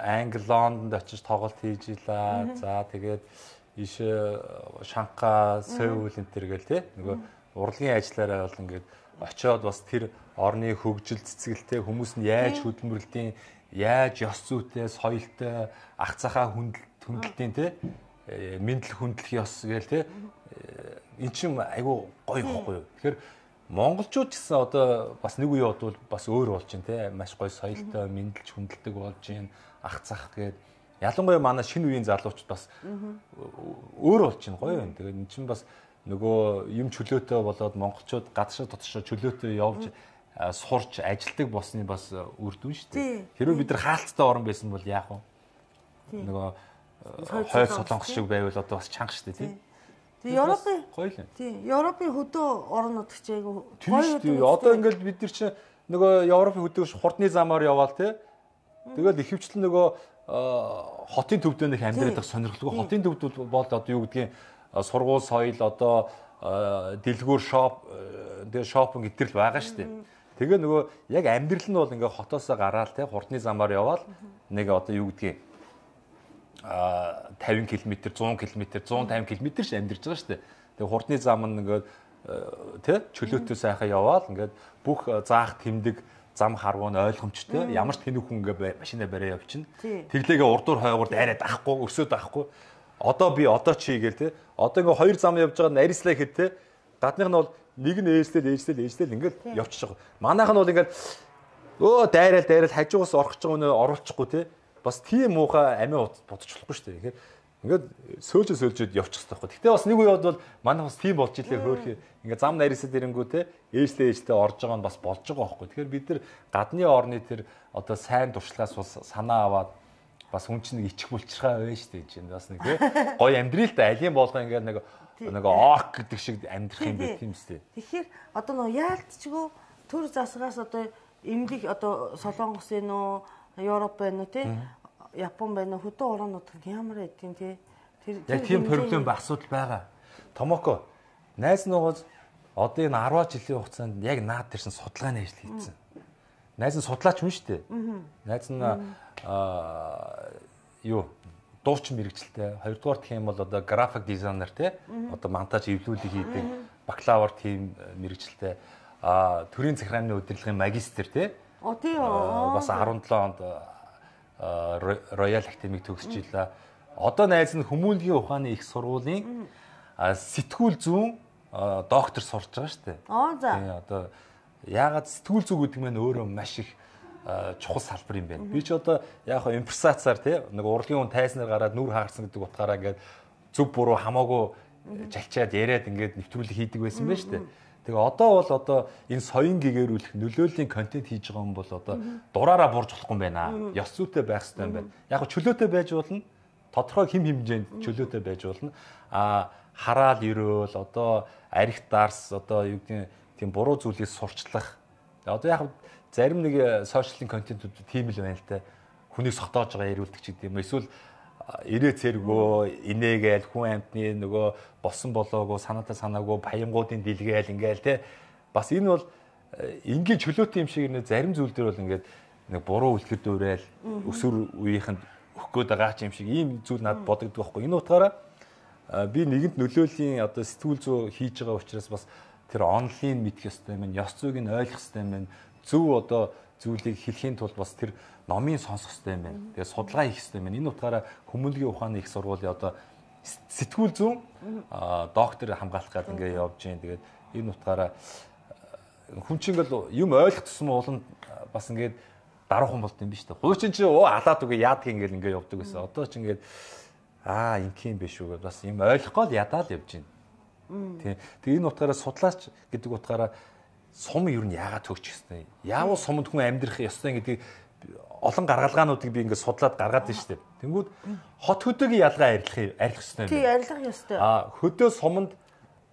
Англи Лондонд очиж тоглолт хийж илаа. За тэгээд иш Шанхай, Сеул энэ төр гэл тий нөгөө урлагийн ажиллаараа бол ингээд очиод бас тэр орны хөгжил цэцгэлтэй хүмүүс нь яаж хөдөлмөрлөдیں, яаж ёс зүйтэй, соёлтой, ах цахаа хүндэлтийн тий мэдлэг хүндлэх ёс гээл тий эн чинь айгүй гоё ихгүй юу. Тэгэхээр монголчууд гэсэн одоо бас нэг үе бодвол бас өөр болж байна тий маш гоё соёлтой, мэдлж хүндэлдэг болж байна. Ах цах гээд ялангуяа манай шинэ үеийн залуучууд бас өөр болж байна гоё байна. Тэгээд эн чинь бас нөгөө юм чөлөөтэй болоод монголчууд гадшаа дотшоо чөлөөтэй явж сурч ажилдаг болсны бас үр дүн шүү дээ. Хэрвээ бид нар хаалттай орн байсан бол яах вэ? Нөгөө хойд солонгос шиг байвал одоо бас чанга шүү дээ тий. Тэгээ Европын гоё л юм. Тий, Европын хөдөө орнууд ч айгүй гоё үү. Одоо ингээд бид нар чинь нөгөө Европын хөдөөш хурдны замаар яваал тий. Тэгэл ихэвчлэн нөгөө хотын төвдөө нэг амьдраад байх сонирхолтой. Хотын төвд бол одоо юу гэдгийг сургууль соёл одоо дэлгүүр шоп тэгээ шопинг гэтэрл байгаа шүү дээ. Тэгээ нөгөө яг амьдрал нь бол ингээ хотоосоо гараал те хурдны замаар яваал нэг одоо юу гэдгийг а тавин километр, зуун километр, зуун тавин километр ш амьдарч байгаа шүү дээ. Тэгээ хурдны зам нь ингээ те чөлөөтэй сайхан яваал ингээ бүх заах тэмдэг зам харгуу нь ойлгомжтой. Ямар ч тэнэг хүн ингээ машинаа бариа явчихна. Тэглээгээ урдуур хойгуурд арайд ахгүй, өрсөд ахгүй. Одоо би одоо чи гээл те. Одоо ингээ хоёр зам явж байгаа нарийнслаа гэхэд те. Гадных нь бол нэг нь ээжлэл ээжлэл ээжлэл ингээд явчихж байгаа. Манайх нь бол ингээд өө дайраал дайраал хажуугаас орох гэж байгаа нөө оруулчихгүй те. Бас тийм муухай амиа бодчихлохгүй шүү дээ. Тэгэхээр ингээд сөөлжөө сөөлжөд явчих хэрэгтэй байхгүй. Гэтэ бас нэг үед бол манайх бас тийм болж илээ хөөх. Ингээд зам нарийнсаа дэрэнгүү те. Ээжлээ ээжлээ орж байгаа нь бас болж байгаа байхгүй. Тэгэхээр бид нар гадны орны тэр одоо сайн туршлагаас бас санаа аваад бас хүн чинь нэг ичих булчирхаа байна шүү дээ. Энд бас нэг те. Гоё амьдрий л да алийн болгоо ингээд нэг нэг ок гэдэг шиг амьдрах юм байх тийм үстэй. Тэгэхээр одоо нөө яалтчгүй төр засгаас одоо эмгэг одоо Солонгос ээ нөө Европ байна уу тий Япон байна уу хөдөө орнууд ямар байдгийг тий тэр яг тийм проблем ба асуудал байгаа. Томоко найз нуугаас одоо энэ арван жилийн хугацаанд яг наад тэрсэн судалгааны ажил хийсэн. Найз нь судлаач хүн шүү дээ. Найз нь аа юу дуучин мэрэгчлээ. Хоёрдугаар гэх юм бол одоо график дизайнер тий одоо монтаж эвлүүлэг хийдэг бакалавр тийм мэрэгчлээ. А төрийн захиргааны удирдлагын магистр тий. Оо тий бас арван долоо онд Royal Academy төгсөж илаа. Одоо найз нь хүмүүнлэгийн ухааны их сургуулийн сэтгүүл зүүн доктор сурч байгаа шүү дээ. Аа за. Тий одоо яагаад сэтгүүл зүй гэдэг нь өөрөө маш их чухал салбар юм байна. Би ч одоо яг хаа импресацаар тий нэг урлагийн хүн тайснаар гараад нүр хаарсан гэдэг утгаараа ингээд зөв буруу хамаагүй жалчаад яриад ингээд нэвтрүүлэг хийдэг байсан байж тээ. Тэгээ одоо бол одоо энэ соён гэгэрүүлэх нөлөөллийн контент хийж байгаа юм бол одоо дураараа бурж болохгүй юм байна. Ёс зүйтэй байх хэрэгтэй юм байна. Яг хаа чөлөөтэй байж болно. Тодорхой хэм хэмжээнд чөлөөтэй байж болно. А хараал өрөөл одоо арх дарс одоо юу гэдэг тийм буруу зүйлийг сурчлах. Одоо яг зарим нэг сошиалын контентууд тийм л байна л та. Хүнийг согтоож байгаа яриулдаг ч гэдэг юм. Эсвэл ирээ цэргөө инээгээл хүн амтны нөгөө болсон болоогүй санаатай санаагүй баянгуудын дэлгээл ингээл те бас энэ бол энгийн чөлөөтэй юм шиг нэ зарим зүйл дээр бол ингээд нэг буруу үлгэр дуурайл өсвөр үеийнхэнд өгөх гээд байгаа юм шиг ийм зүйл надад бодогддог байхгүй. Энэ утгаараа би нэгэнт нөлөөлийн одоо сэтгүүл зүй хийж байгаа учраас бас тэр онлайн мэдэх ёстой юм, ёс зүйг нь ойлгох ёстой юм, зөв одоо зүйлийг хэлхийн тулд бас тэр номын сонсох ёстой юм байна. Тэгээ судалгаа хийх ёстой юм байна. Энэ утгаараа хүмүүнлэгийн ухааны их сургуулийн одоо сэтгүүл зүйн доктор хамгаалах гэдэг ингээд явж байна. Тэгээд энэ утгаараа хүн чинь ингээл юм ойлгох тусам ууланд бас ингээд даруухан болд юм биш үү? Хуучин чи оо алаад үгүй яадаг ингээл ингээд явдаг гэсэн. Одоо ч ингээд аа ингийн биш үү бас юм ойлгохгүй л ядаа л явж байна. Тийм. Тэгээ энэ утгаараа судлаач гэдэг утгаараа сум юу нь яагаад төгчих ёстой? Яавал сумд хүн амьдрах ёстой гэдгийг олон гаргалгаануудыг би ингээд судлаад гаргаад байна шүү дээ. Тэнгүүд хот хөдөөгийн ялгаа арилгах арилгах ёстой юм. Тий, арилгах ёстой. А хөдөө суманд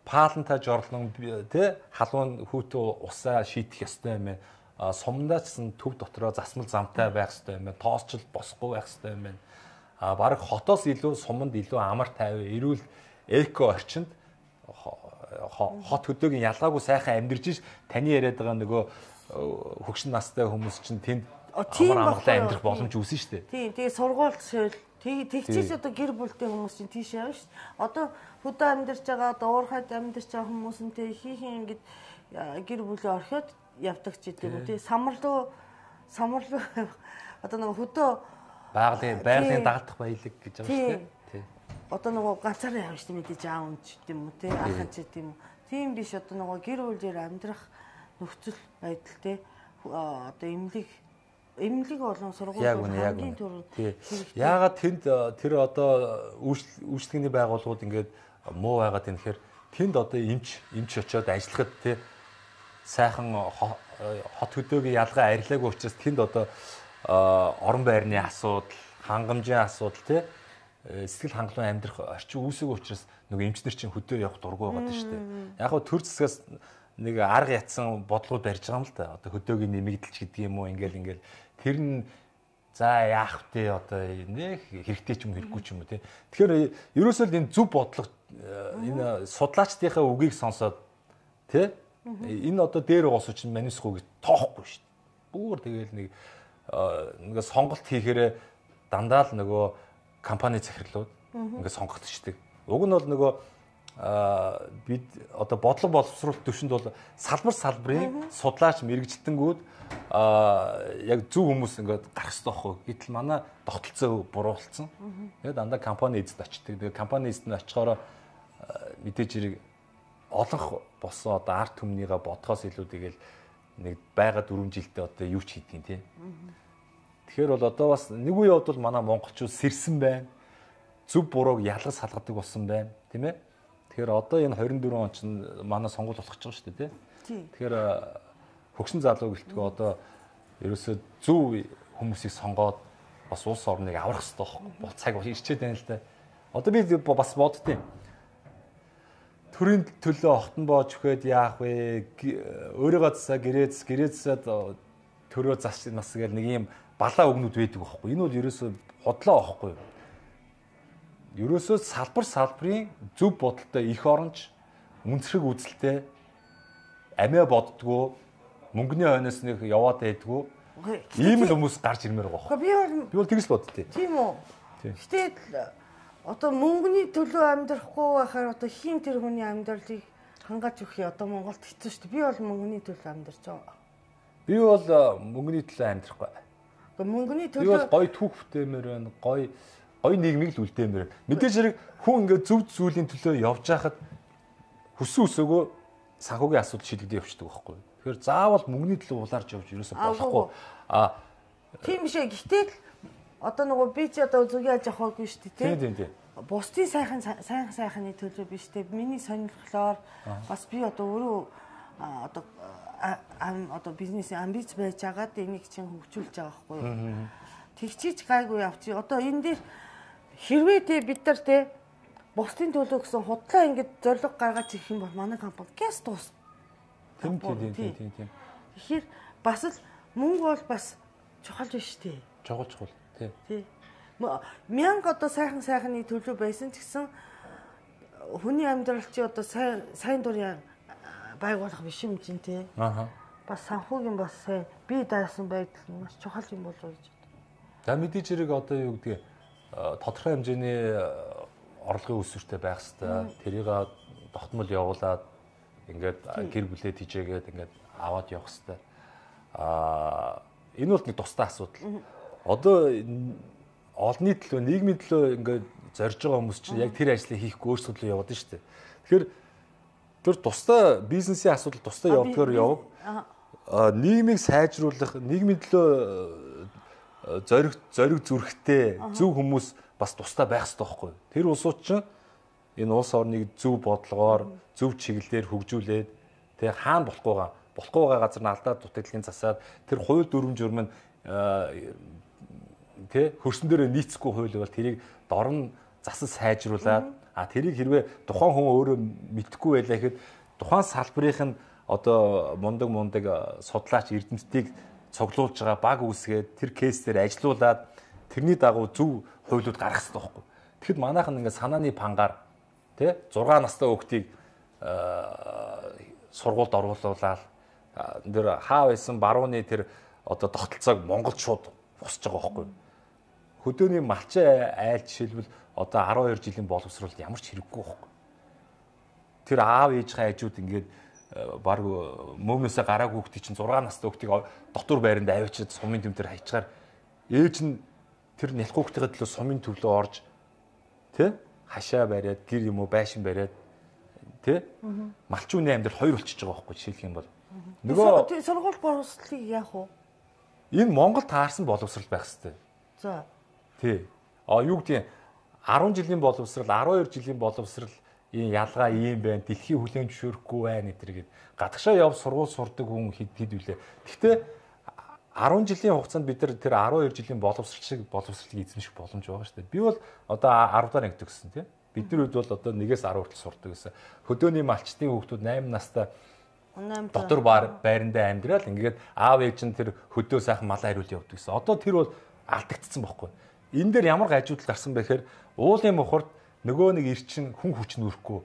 паалантай жорлон тий халуун хүүтэ усаа шийдэх ёстой юм байна. А сумдаа ч гэсэн төв дотроо засмал замтай байх ёстой юм байна. Тоосчл босхгүй байх ёстой юм байна. А баг хотоос илүү суманд илүү амар тайван эрүүл эко орчинд хот хөдөөгийн ялгаагүй сайхан амьдарч ш таны яриад байгаа нөгөө хөгшин настай хүмүүс чинь тэнд амар амгалан амьдрах боломж үүсэн шүү дээ. Тийм, тэгээ сургууль шил тэгчээс одоо гэр бүлтэй хүмүүс чинь тийш явна шүү дээ. Одоо хөдөө амьдарч байгаа, одоо уурхайд амьдарч байгаа хүмүүс нь тэг хийхин ингэж гэр бүлээ орхиод явдаг ч гэдэг юм тий. Самарлуу самарлуу одоо нөгөө хөдөө байгалийн байгалийн дагалдах баялаг гэж байгаа шүү дээ. Тий. Одоо нөгөө ганцаараа явж тийм мэдээж аав юм ч гэдэг юм уу тий. Ахын ч гэдэг юм уу. Тийм биш одоо нөгөө гэр бүлээр амьдрах нөхцөл байдал тий. Одоо эмнэлэг эмнэлэг болон сургууль хамгийн түрүү. Яагаад тэнд тэр одоо үйлчлэгний байгууллагууд ингээд муу байгаад байна гэхээр тэнд одоо эмч эмч очиод ажиллахад тий сайхан хот хөдөөгийн ялгаа арилаагүй учраас тэнд одоо орон байрны асуудал, хангамжийн асуудал тий сэтгэл хангалуун амьдрах орчин үүсэгүй учраас нөгөө эмчнэр чинь хөдөө явах дургүй байгаа даа шүү дээ. Яг хөө төр зэсгээс нэг арга ятсан бодлого барьж байгаа юм л да. Одоо хөдөөгийн нэмэгдэлч гэдэг юм уу ингээл ингээл тэр нь за яах вэ одоо нэг хэрэгтэй ч юм хэрэггүй ч юм уу тий. Тэгэхээр ерөөсөө л энэ зөв бодлого энэ судлаачдынхаа үгийг сонсоод тий энэ одоо дээр уусууч манусхуу гэж тоохгүй шүү дээ. Бүр тэгээл нэг ингээ сонголт хийхээр дандаа л нөгөө компани захирлууд ингээ сонгогдчихдаг. Уг нь бол нөгөө бид одоо бодлого боловсруулалт төвшөнд бол салбар салбарын судлаач мэрэгжилтэнгүүд яг зөв хүмүүс ингээд гарах хэрэгтэй байхгүй. Гэтэл манай тогтолцоо буруулсан. Тэгээд дандаа компани эзэд очдөг. Тэгээд компани эзэд нь очихоор мэдээж хэрэг олонх болсон одоо арт түмнийгээ бодхоос илүү тэгэл нэг байга дөрвөн жилдээ одоо юу ч хийдгийг тий. Тэгэхээр бол одоо бас нэг үе явд бол манай монголчууд сэрсэн байна. Зөв бурууг ялгаж салгадаг болсон байна, тийм ээ. Тэгэхээр одоо энэ двадцать дөрвөн он чинь манай сонгуул болох гэж байгаа шүү дээ, тий. Тэгэхээр хөгшин залуу гэлтгөө одоо ерөөсөө зөв хүмүүсийг сонгоод бас улс орныг аврах хэрэгтэй байхгүй. Бол цаг ирчээд байна л да. Одоо би бас боддtiin. Төрийн төлөө хотон боож өгөхөд яах вэ? Өөрийгөө засаа гэрээз гэрээзсад төрөө зас нас гэл нэг юм балаа өгнүүд байдаг байхгүй. Энэ бол ерөөсөө хотлоо байхгүй. Ерөөсөө салбар салбарын зөв бодолтой их оронч үнцрэг үзэлтэй амиа боддгоо мөнгөний хойноос нэг яваад байдгүй. Ийм л хүмүүс гарч ирмээр байгаа байхгүй. Би бол би бол тэгж л боддتي. Тийм үү. Гэтэл одоо мөнгөний төлөө амьдрахгүй байхаар одоо хин тэр хүний амьдралыг хангааж өгөх одоо Монголд хэцүү шүү дээ. Би бол мөнгөний төлөө амьдарч байгаа. Би бол мөнгөний төлөө амьдрахгүй. Одоо мөнгөний төлөө би бол гоё түүх бүтээмээр байна. Гоё гоё нийгмийг л үлдээмээр байна. Мэдээж хэрэг хүн ингээд зөв зүйлийн төлөө явж байхад хүссэн үсээгөө санхүүгийн асуудал шийдэгдэж явчихдаг байхгүй. Тэгэхээр заавал мөнгөний төлөө улаарч явж ерөөсөө болохгүй. А тийм биш ээ. Гэтэл одоо нөгөө би ч одоо зүгийн аж ахуйгүй шүү дээ, тийм тийм тийм. Бусдын сайхан сайхан сайхны төлөө биш дээ. Миний сонирхлоор бас би одоо өөрөө одоо одоо бизнесийн амбиц байж байгаад энийг чинь хөгжүүлж байгаа байхгүй юу. Тэгчиж гайгүй явчих. Одоо энэ дээр хэрвээ те бид нар те бусдын төлөө гэсэн худлаа ингэж зориг гаргаж ирэх юм бол манай компани гэс дуус. Тийм тийм тийм тийм. Тэгэхээр бас л мөнгө бол бас чухал биш тий. Чухал чухал тий. Тий. Мянга одоо сайхан сайхны төлөө байсан ч гэсэн хүний амьдрал чи одоо сайн сайн дурын байгуулах биш юм чинь тий. Аха. Бас санхүүгийн бас сайн бие даасан байдал нь маш чухал юм болов уу гэж. За мэдээж хэрэг одоо юу гэдгийг тодорхой хэмжээний орлогын өсвөртэй байх хэвээр тэрийг тогтмол явуулаад ингээд гэр бүлээ тижээгээд ингээд аваад явах хэвээр. Аа энэ бол нэг тусдаа асуудал. Одоо олонний төлөө нийгмийн төлөө ингээд зорж байгаа хүмүүс чинь яг тэр ажлыг хийхгүй өөрсдөө төлөө яваад шүү дээ. Тэгэхээр тэр тусдаа бизнесийн асуудал тусдаа явдгаар яв. Нийгмийг сайжруулах, нийгмийн төлөө зориг зориг зүрхтэй зөв хүмүүс бас тусдаа байх хэрэгтэй байхгүй. Тэр улсууд чинь энэ улс орныг зөв бодлогоор, зөв чиглэлээр хөгжүүлээд тэг хаана болохгүйгаа болохгүй байгаа газар нь алдаад дутагдлын засаад тэр хууль дүрм журм нь тэ хөрсөн дээрээ нийцэхгүй хууль бол тэрийг дор нь засаж сайжруулад а тэрийг хэрвээ тухайн хүн өөрөө мэдхгүй байлаа гэхэд тухайн салбарынх нь одоо мундаг мундаг судлаач эрдэмтдийг цуглуулж байгаа баг үүсгээд тэр кейсээр ажилуулад тэрний дагуу зөв хуулиуд гаргах хэрэгтэй байхгүй. Тэгэхэд манайхан ингээд санааны пангаар тий зургаан настай хүүхдийг сургуульд оруулуулаад тэр хаа байсан барууны тэр одоо тогтолцоог Монголд шууд босч байгаа байхгүй. Хөдөөний малчин айл жишээлбэл одоо арван хоёр жилийн боловсролд ямар ч хэрэггүй байхгүй. Тэр аав ээжийн хажууд ингээд баг мөмнөөсөө гараагүй хүүхдийг чинь зургаан настай хүүхдийг дотор байранд аваачаад сумын тэмдэр хайчгаар ээж нь тэр нялх хүүхдийн төлөө сумын төвлөө орж тий хашаа бариад гэр юм уу байшин бариад тий малчууны амьдрал хоёр болчихж байгаа байхгүй жишээлх юм бол нөгөө сургууль боловсролыг яах вэ? Энэ Монгол таарсан боловсрол байх хэрэгтэй. За тий а юу гэдэг арван жилийн боловсрал арван хоёр жилийн боловсрал ийм ялгаа ийм байна. Дэлхийн хүлээн зөвшөөрөхгүй байна гэдэргээд гадагшаа яв сургууль сурдаг хүн хэд хэд үлээ. Гэхдээ арван жилийн хугацаанд бид нар тэр арван хоёр жилийн боловсрал шиг боловсролыг эзэмших боломж байгаа шүү дээ. Би бол одоо арав дахь ангид төгссөн тийм. Бидний үед бол одоо нэгээс арав хүртэл сурдаг гэсэн. Хөдөөний малчтын хүүхдүүд восемь настай дотор байрандаа амьдрал ингээд аав ээж нь тэр хөдөө сайхан малаа хариул явдаг гэсэн. Одоо тэр бол алдагдсан байхгүй. Энэ дээр ямар гажуудал гарсан бэ гэхээр уулын мухард нөгөө нэг ирчин хүн хүч нүрэхгүй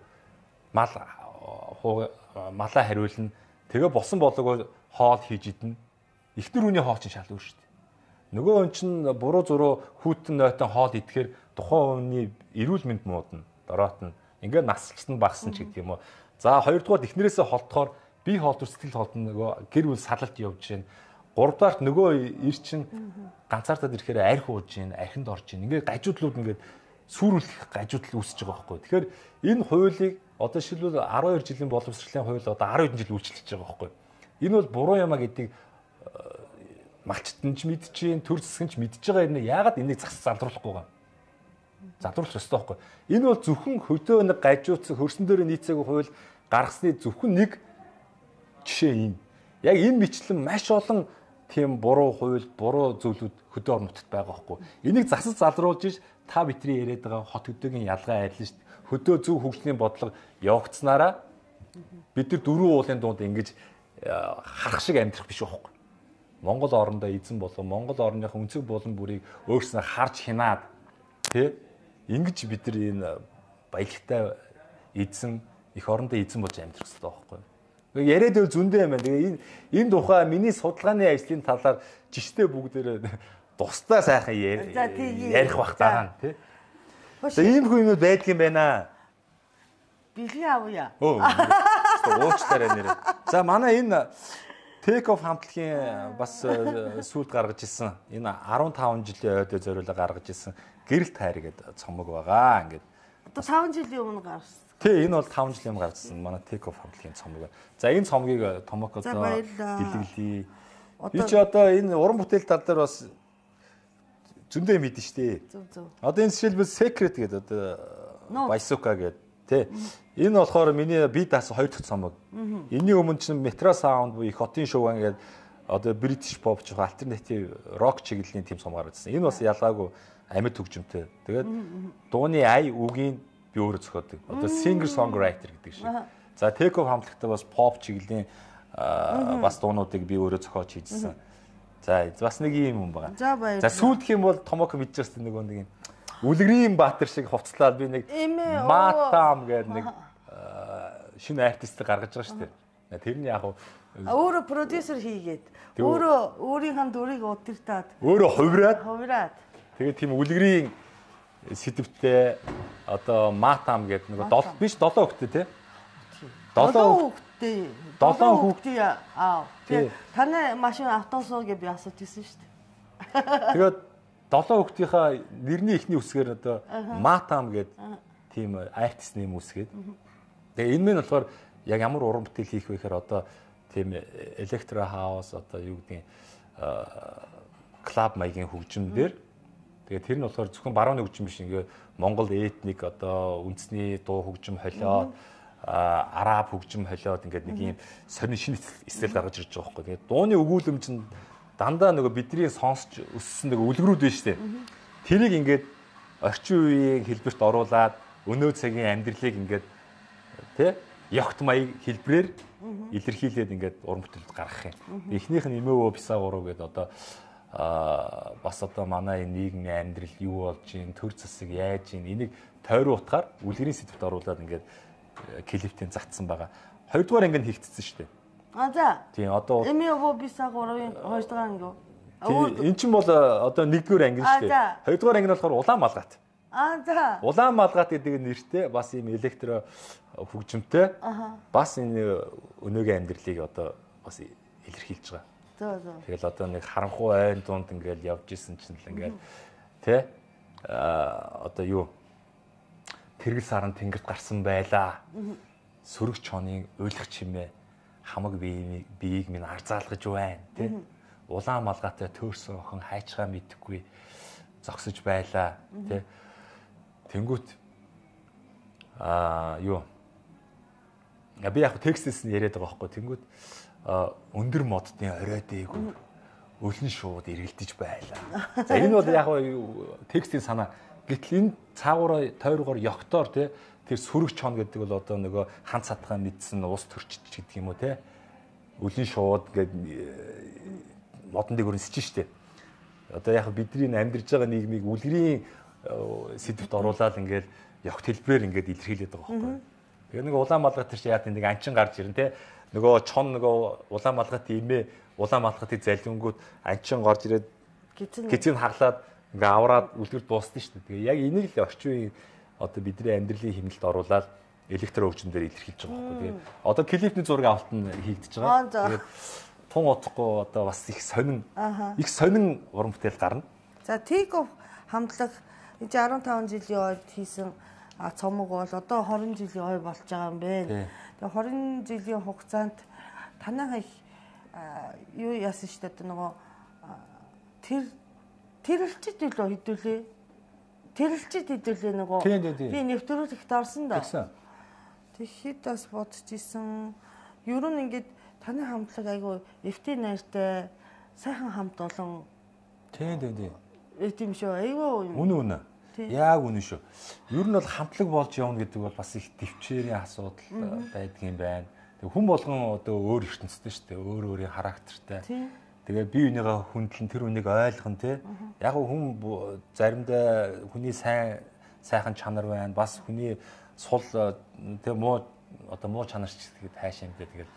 мал малаа хариулна. Тэгээ болсон болоогоо хоол хийж идэнэ. Ихтер үний хоол чинь шал өөр шүү дээ. Нөгөө хүн чинь буруу зуруу хүүтэн нойтон хоол идэхээр тухайн хүний эрүүл мэнд муудна, дороотно. Ингээд насчлсан багсан ч гэдэг юм уу. За хоёрдугаар эхнэрээсээ холдохоор бие хоолтор сэтгэл хоолтон нөгөө гэр бүл салалт явж байна. Гуравдугаарт нөгөө ир чинь ганцаардаад ирэхээр арх ууж байна, архинд орж байна. Ингээд гажуудлууд ингээд сүрүүлэх гажуудал үүсэж байгаа байхгүй. Тэгэхээр энэ хуулийг одоо шилбэл арван хоёр жилийн боловсролын хууль одоо арван хэдэн жил үйлчлэж байгаа байхгүй. Энэ бол буруу юм а гэдгийг малчтан ч мэдчихээн, төр засгийн ч мэдж байгаа юм. Яагаад энийг зас залруулахгүй байгаа? Залруулах ёстой байхгүй. Энэ бол зөвхөн хөдөө нэг гажууцсан хөрсөн дээр нийцээгүй хууль гаргасны зөвхөн нэг жишээ юм. Яг энэ бичлэн маш олон тийм буруу хууль, буруу зүйлүүд хөдөө орон нутагт байгаа байхгүй. Энийг засаж залруулж иж та бидний яриад байгаа хот хөдөөгийн ялгаа арилна шүү дээ. Хөдөө зөв хөгжлийн бодлого явагдсанараа бид нар дөрвөн уулын дунд ингэж харах шиг амьдрах биш байхгүй. Монгол орондоо эзэн болон Монгол орныхаа өнцөг болон бүрийг өөрснөө харж хянаад тий ингэж бид нар энэ баялагтай эзэн их орондоо эзэн болж амьдрах хэрэгтэй байхгүй. Яриад байвал зөндөө юм байна. Тэгээ энэ энэ тухай миний судалгааны ажлын талаар жиштэй бүгдээрээ тусдаа сайхан ярих бах байгаа нь тий. За ийм хүн юмуд байдаг юм байна. Бэлгийн авъя. Өө. Уучлаарай нэрээ. За манай энэ Take Off хамтлагийн бас сүүлд гаргаж ирсэн. Энэ арван таван жилийн ойдоо зориулаа гаргаж ирсэн гэрэл тайр гэдэг цомог байгаа. Ингээд. Одоо таван жилийн өмнө гарсан. Тий, энэ бол таван жилийн өмнө гарсан. Манай Take Off хамтлагийн цомог. За энэ цомгийг Томок одоо бэлгэлээ. Би ч одоо энэ уран бүтээл тал дээр бас зөндөө мэдэн штэ. Зөв зөв. Одоо энэ жишээлбэл Secret гэдэг одоо Байсука гэдэг тий. Энэ болохоор миний би даасан хоёр дахь цомог. Энийн өмнө чинь Metro Sound буюу их хотын шоуган гэдэг одоо British pop жоо альтернатив рок чиглэлийн тим цом гаргажсэн. Энэ бас ялгаагүй амьд хөгжимтэй. Тэгээд дууны ай үгийн би өөрөө зохиодог. Одоо singer songwriter гэдэг шиг. За Take Off хамтлагтай бас pop чиглэлийн бас дуунуудыг би өөрөө зохиож хийжсэн. За бас нэг юм юм байгаа. За баярлалаа. За сүүлдэх юм бол Томок мэдчихсэн нөгөө нэг юм Үлгэрийн Баатар шиг хувцлаад би нэг Матам гэдэг нэг шинэ артист гаргаж байгаа шүү дээ. Тэр нь яг өөрөө продюсер хийгээд өөрөө өөрийнхөө дүрийг удирдаад өөрөө хувираад хувираад тэгээд тийм үлгэрийн сэдвтэй одоо Матам гэдэг нэг биш долоо хүүхдээ тий. Долоо хүүхдээ долоо хүүхдээ аа тэгээд таны машин автобусоо гэж би асууж ирсэн шүү дээ. Тэгээд долоо хүүхдийнхаа нэрний эхний үсгээр одоо Матам гэдэг тийм артист нэм үсгээд. Тэгээ энэ мэн болохоор яг ямар уран бүтээл хийх вэ гэхээр одоо тийм электро хаус одоо юу гэдгийг клуб маягийн хөгжим дээр тэгээ тэр нь болохоор зөвхөн барууны хөгжим биш ингээ Монгол этник одоо үндэсний дуу хөгжим холиод араб хөгжим холиод ингээд нэг юм сонин шинэ стил гаргаж ирж байгаа байхгүй. Тэгээд дууны өгүүлэмж нь дандаа нөгөө бидний сонсч өссөн нэг үлгэрүүд байна шүү дээ. Тэрийг ингээд орчин үеийн хэлбэрт оруулаад өнөө цагийн амьдралыг ингээд тий ягт маяг хэлбрээр илэрхийлээд ингээд уран бүтээлд гаргах юм. Эхнийх нь Имэвөө Бисаагуруу гэдэг одоо а бас одоо манай нийгмийн амьдрал юу болж ийн төр засаг яаж ийн энийг тойрон утгаар үлгэрийн сэдвт оруулаад ингээд клиптийн загтсан байгаа. Хоёрдугаар анги нь хийгдсэн шүү дээ. А за. Тийм одоо Имэвөө Бисаагуруугийн хоёрдугаар анги. Тийм эн чинь бол одоо нэгдүгээр анги шүү дээ. Хоёрдугаар анги нь болохоор улаан малгайт. А за. Улаан малгайт гэдэг нэртэй бас ийм электро хөгжимтэй бас энэ өнөөгийн амьдралыг одоо бас илэрхийлж байгаа. Тэгэл одоо нэг харанхуй айн дунд ингээл явж исэн чинь л ингээл тий а одоо юу тэргэл саран тэнгэрт гарсан байлаа. Сөрөг чонын уйлах чимээ хамаг биеийг биеийг минь арзаалгаж байна тий. Улаан малгайтай төөрсөн охин хайчгаа мэдэхгүй зогсож байлаа тий. Тэнгүүт а юу би яг текстээс нь яриад байгаа байхгүй. Тэнгүүт өндөр модны орой дээгүүр өлн шууд эргэлдэж байлаа. За энэ бол яг текстийн санаа. Гэтэл энэ цаагаараа тойргоор ёгтоор тий тэр сүрэг чон гэдэг бол одоо нөгөө хан цатгаа мэдсэн ус төрчиж гэдэг юм уу тий. Өлн шууд гээд модон дээгүүр нисэж штэ. Одоо яг бидний амьдарч байгаа нийгмийг үлгэрийн сэдвт оруулаад ингээл ёгт хэлбрээр ингээд илэрхийлээд байгаа байхгүй. Тэгээ нэг улаан малгайт чи яа нэг анчин гарч ирэн тий. Нөгөө чон нөгөө улаан малгайт имээ улаан малгайтыг залингууд анчин горж ирээд гизийг хаглаад ингээ авраад үлгэр дуусна шүү дээ. Тэгээ яг энийг л орчин үеийн одоо бидний амьдралын хэмнэлд оруулаад электро хөгжмөөр илэрхийлж байгаа байхгүй. Тэгээ одоо клипний зураг авалт нь хийгдэж байгаа. Тэгээд тун утахгүй одоо бас их сонин их сонин уран бүтээл гарна. За Тиков хамтлаг энэ арван таван жилийн ойд хийсэн цомог бол одоо хорин жилийн ой болж байгаа юм байна. Тэгээ хорин жилийн хугацаанд танайх юу яасан шүү дээ нөгөө тэр тэрэлчд илүү хэдүүлээ. Тэрэлчд хэдүүлээ нөгөө би нэвтрүүлэгт орсон да. Тэгэхэд бас бодож исэн. Ер нь ингээд таны хамтлаг айгу эф ти найртай сайхан хамт олон. Тийм тийм тийм. Э тийм шүү. Айгу. Үнэ үнэ. Яг үнэ шүү. Ер нь бол хамтлаг болж явна гэдэг бол бас их төвчээрийн асуудал байдаг юм байна. Тэг хүн болгон одоо өөр ертөнцтэй шүү дээ. Өөр өөрийн характертай. Тэгээ бие бинийгаа хүндлэн тэр үнийг ойлгох нь тий. Яг хүн заримдаа хүний сайн сайхан чанар байна. Бас хүний сул тэг муу одоо муу чанар ч гэдэг хайшаа юм дээ. Тэгээд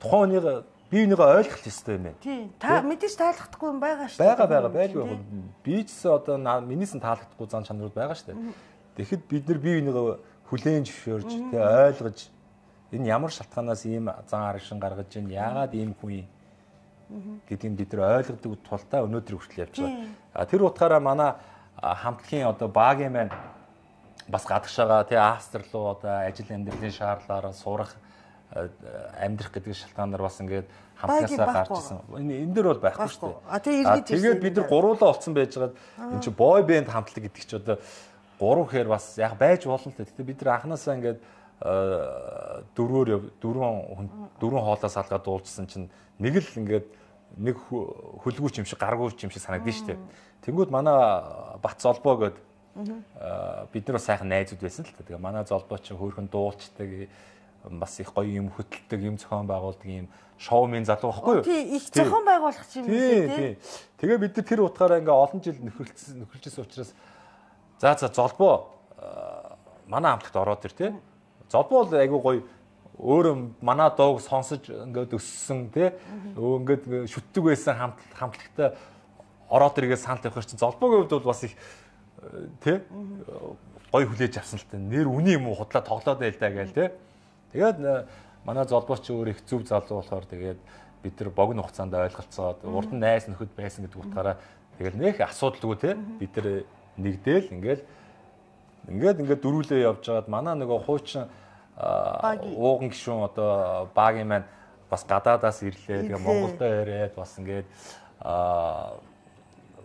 тухайн үнийг бие бинийгаа ойлгох ёстой юм байна. Тий. Та мэдээж таалагдахгүй юм байгаа шүү дээ. Бага бага байлгүй. Би ч одоо минийс нь таалагдахгүй зан чанарууд байгаа шүү дээ. Тэгэхэд бид нар бие бинийгаа хүлээн зөвшөөрж тэг ойлгож энэ ямар шалтгаанаас ийм зан аргашин гаргаж ийн яагаад ийм хүн гэдгийг бид нар ойлгодог тулдаа өнөөдөр хүртэл явж байгаа. А тэр утгаараа манай хамтлагийн одоо багийн маань бас гадагшаага тий Австрал руу одоо ажил амьдралын шаардлагаараа сурах амьдрах гэдэг шалтгаанаар бас ингээд хамтлагаасаа гарч ирсэн. Энэ энэ дөр бол байхгүй шүү дээ. А тэгээд бид нар гуруулаа олцсон байжгаад энэ чи бой бэнд хамтлаг гэдэг чи одоо гурав гэхээр бас яг байж болно л дээ. Тэгтээ бид нар анханасаа ингээд дөрвөөр дөрвөн дөрвөн хоолоос салгаад дуулжсэн чинь нэг л ингээд нэг хөлгүүч юм шиг гаргууч юм шиг санагдсан шүү дээ. Тэнгүүд манай Бат золбоо гээд бид нар сайхан найзууд байсан л та. Тэгээ манай золбоо чинь хөөрхөн дуулцдаг бас их гоё юм хөтэлдэг юм зохион байгуулдаг юм шоумен залуу байхгүй юу? Тий, их зохион байгуулах юм тий. Тэгээ бид нар тэр утгаараа ингээ олон жил нөхөрлөсөн нөхөрлөжсэн учраас за за золбоо манай хамтлагт ороод ир тий. Золбоо бол айгүй гоё өөрөө манай дууг сонсож ингээд өссөн тий ингээд шүтдэг байсан хамт хамтлагтай ороод иргээ санал тавих чинь золбоогийн хувьд бол бас их тий гоё хүлээж авсан л та нэр үний юм уу худлаа тоглоод байл та гээл тий тэгээд манай золбооч өөр их зөв залуу болохоор тэгээд бид нар богино хугацаанд ойлголцоод урд нь найз нөхөд байсан гэдэг утгаараа тэгэл нэх асуудалгүй тий бид нар нэгдээл ингээд ингээд ингээд дөрүүлээ явж байгаад манай нөгөө хуучин ууган гишүүн одоо багийн маань бас гадаадаас ирлээ. Тэгээ Монголдо ирээд бас ингээд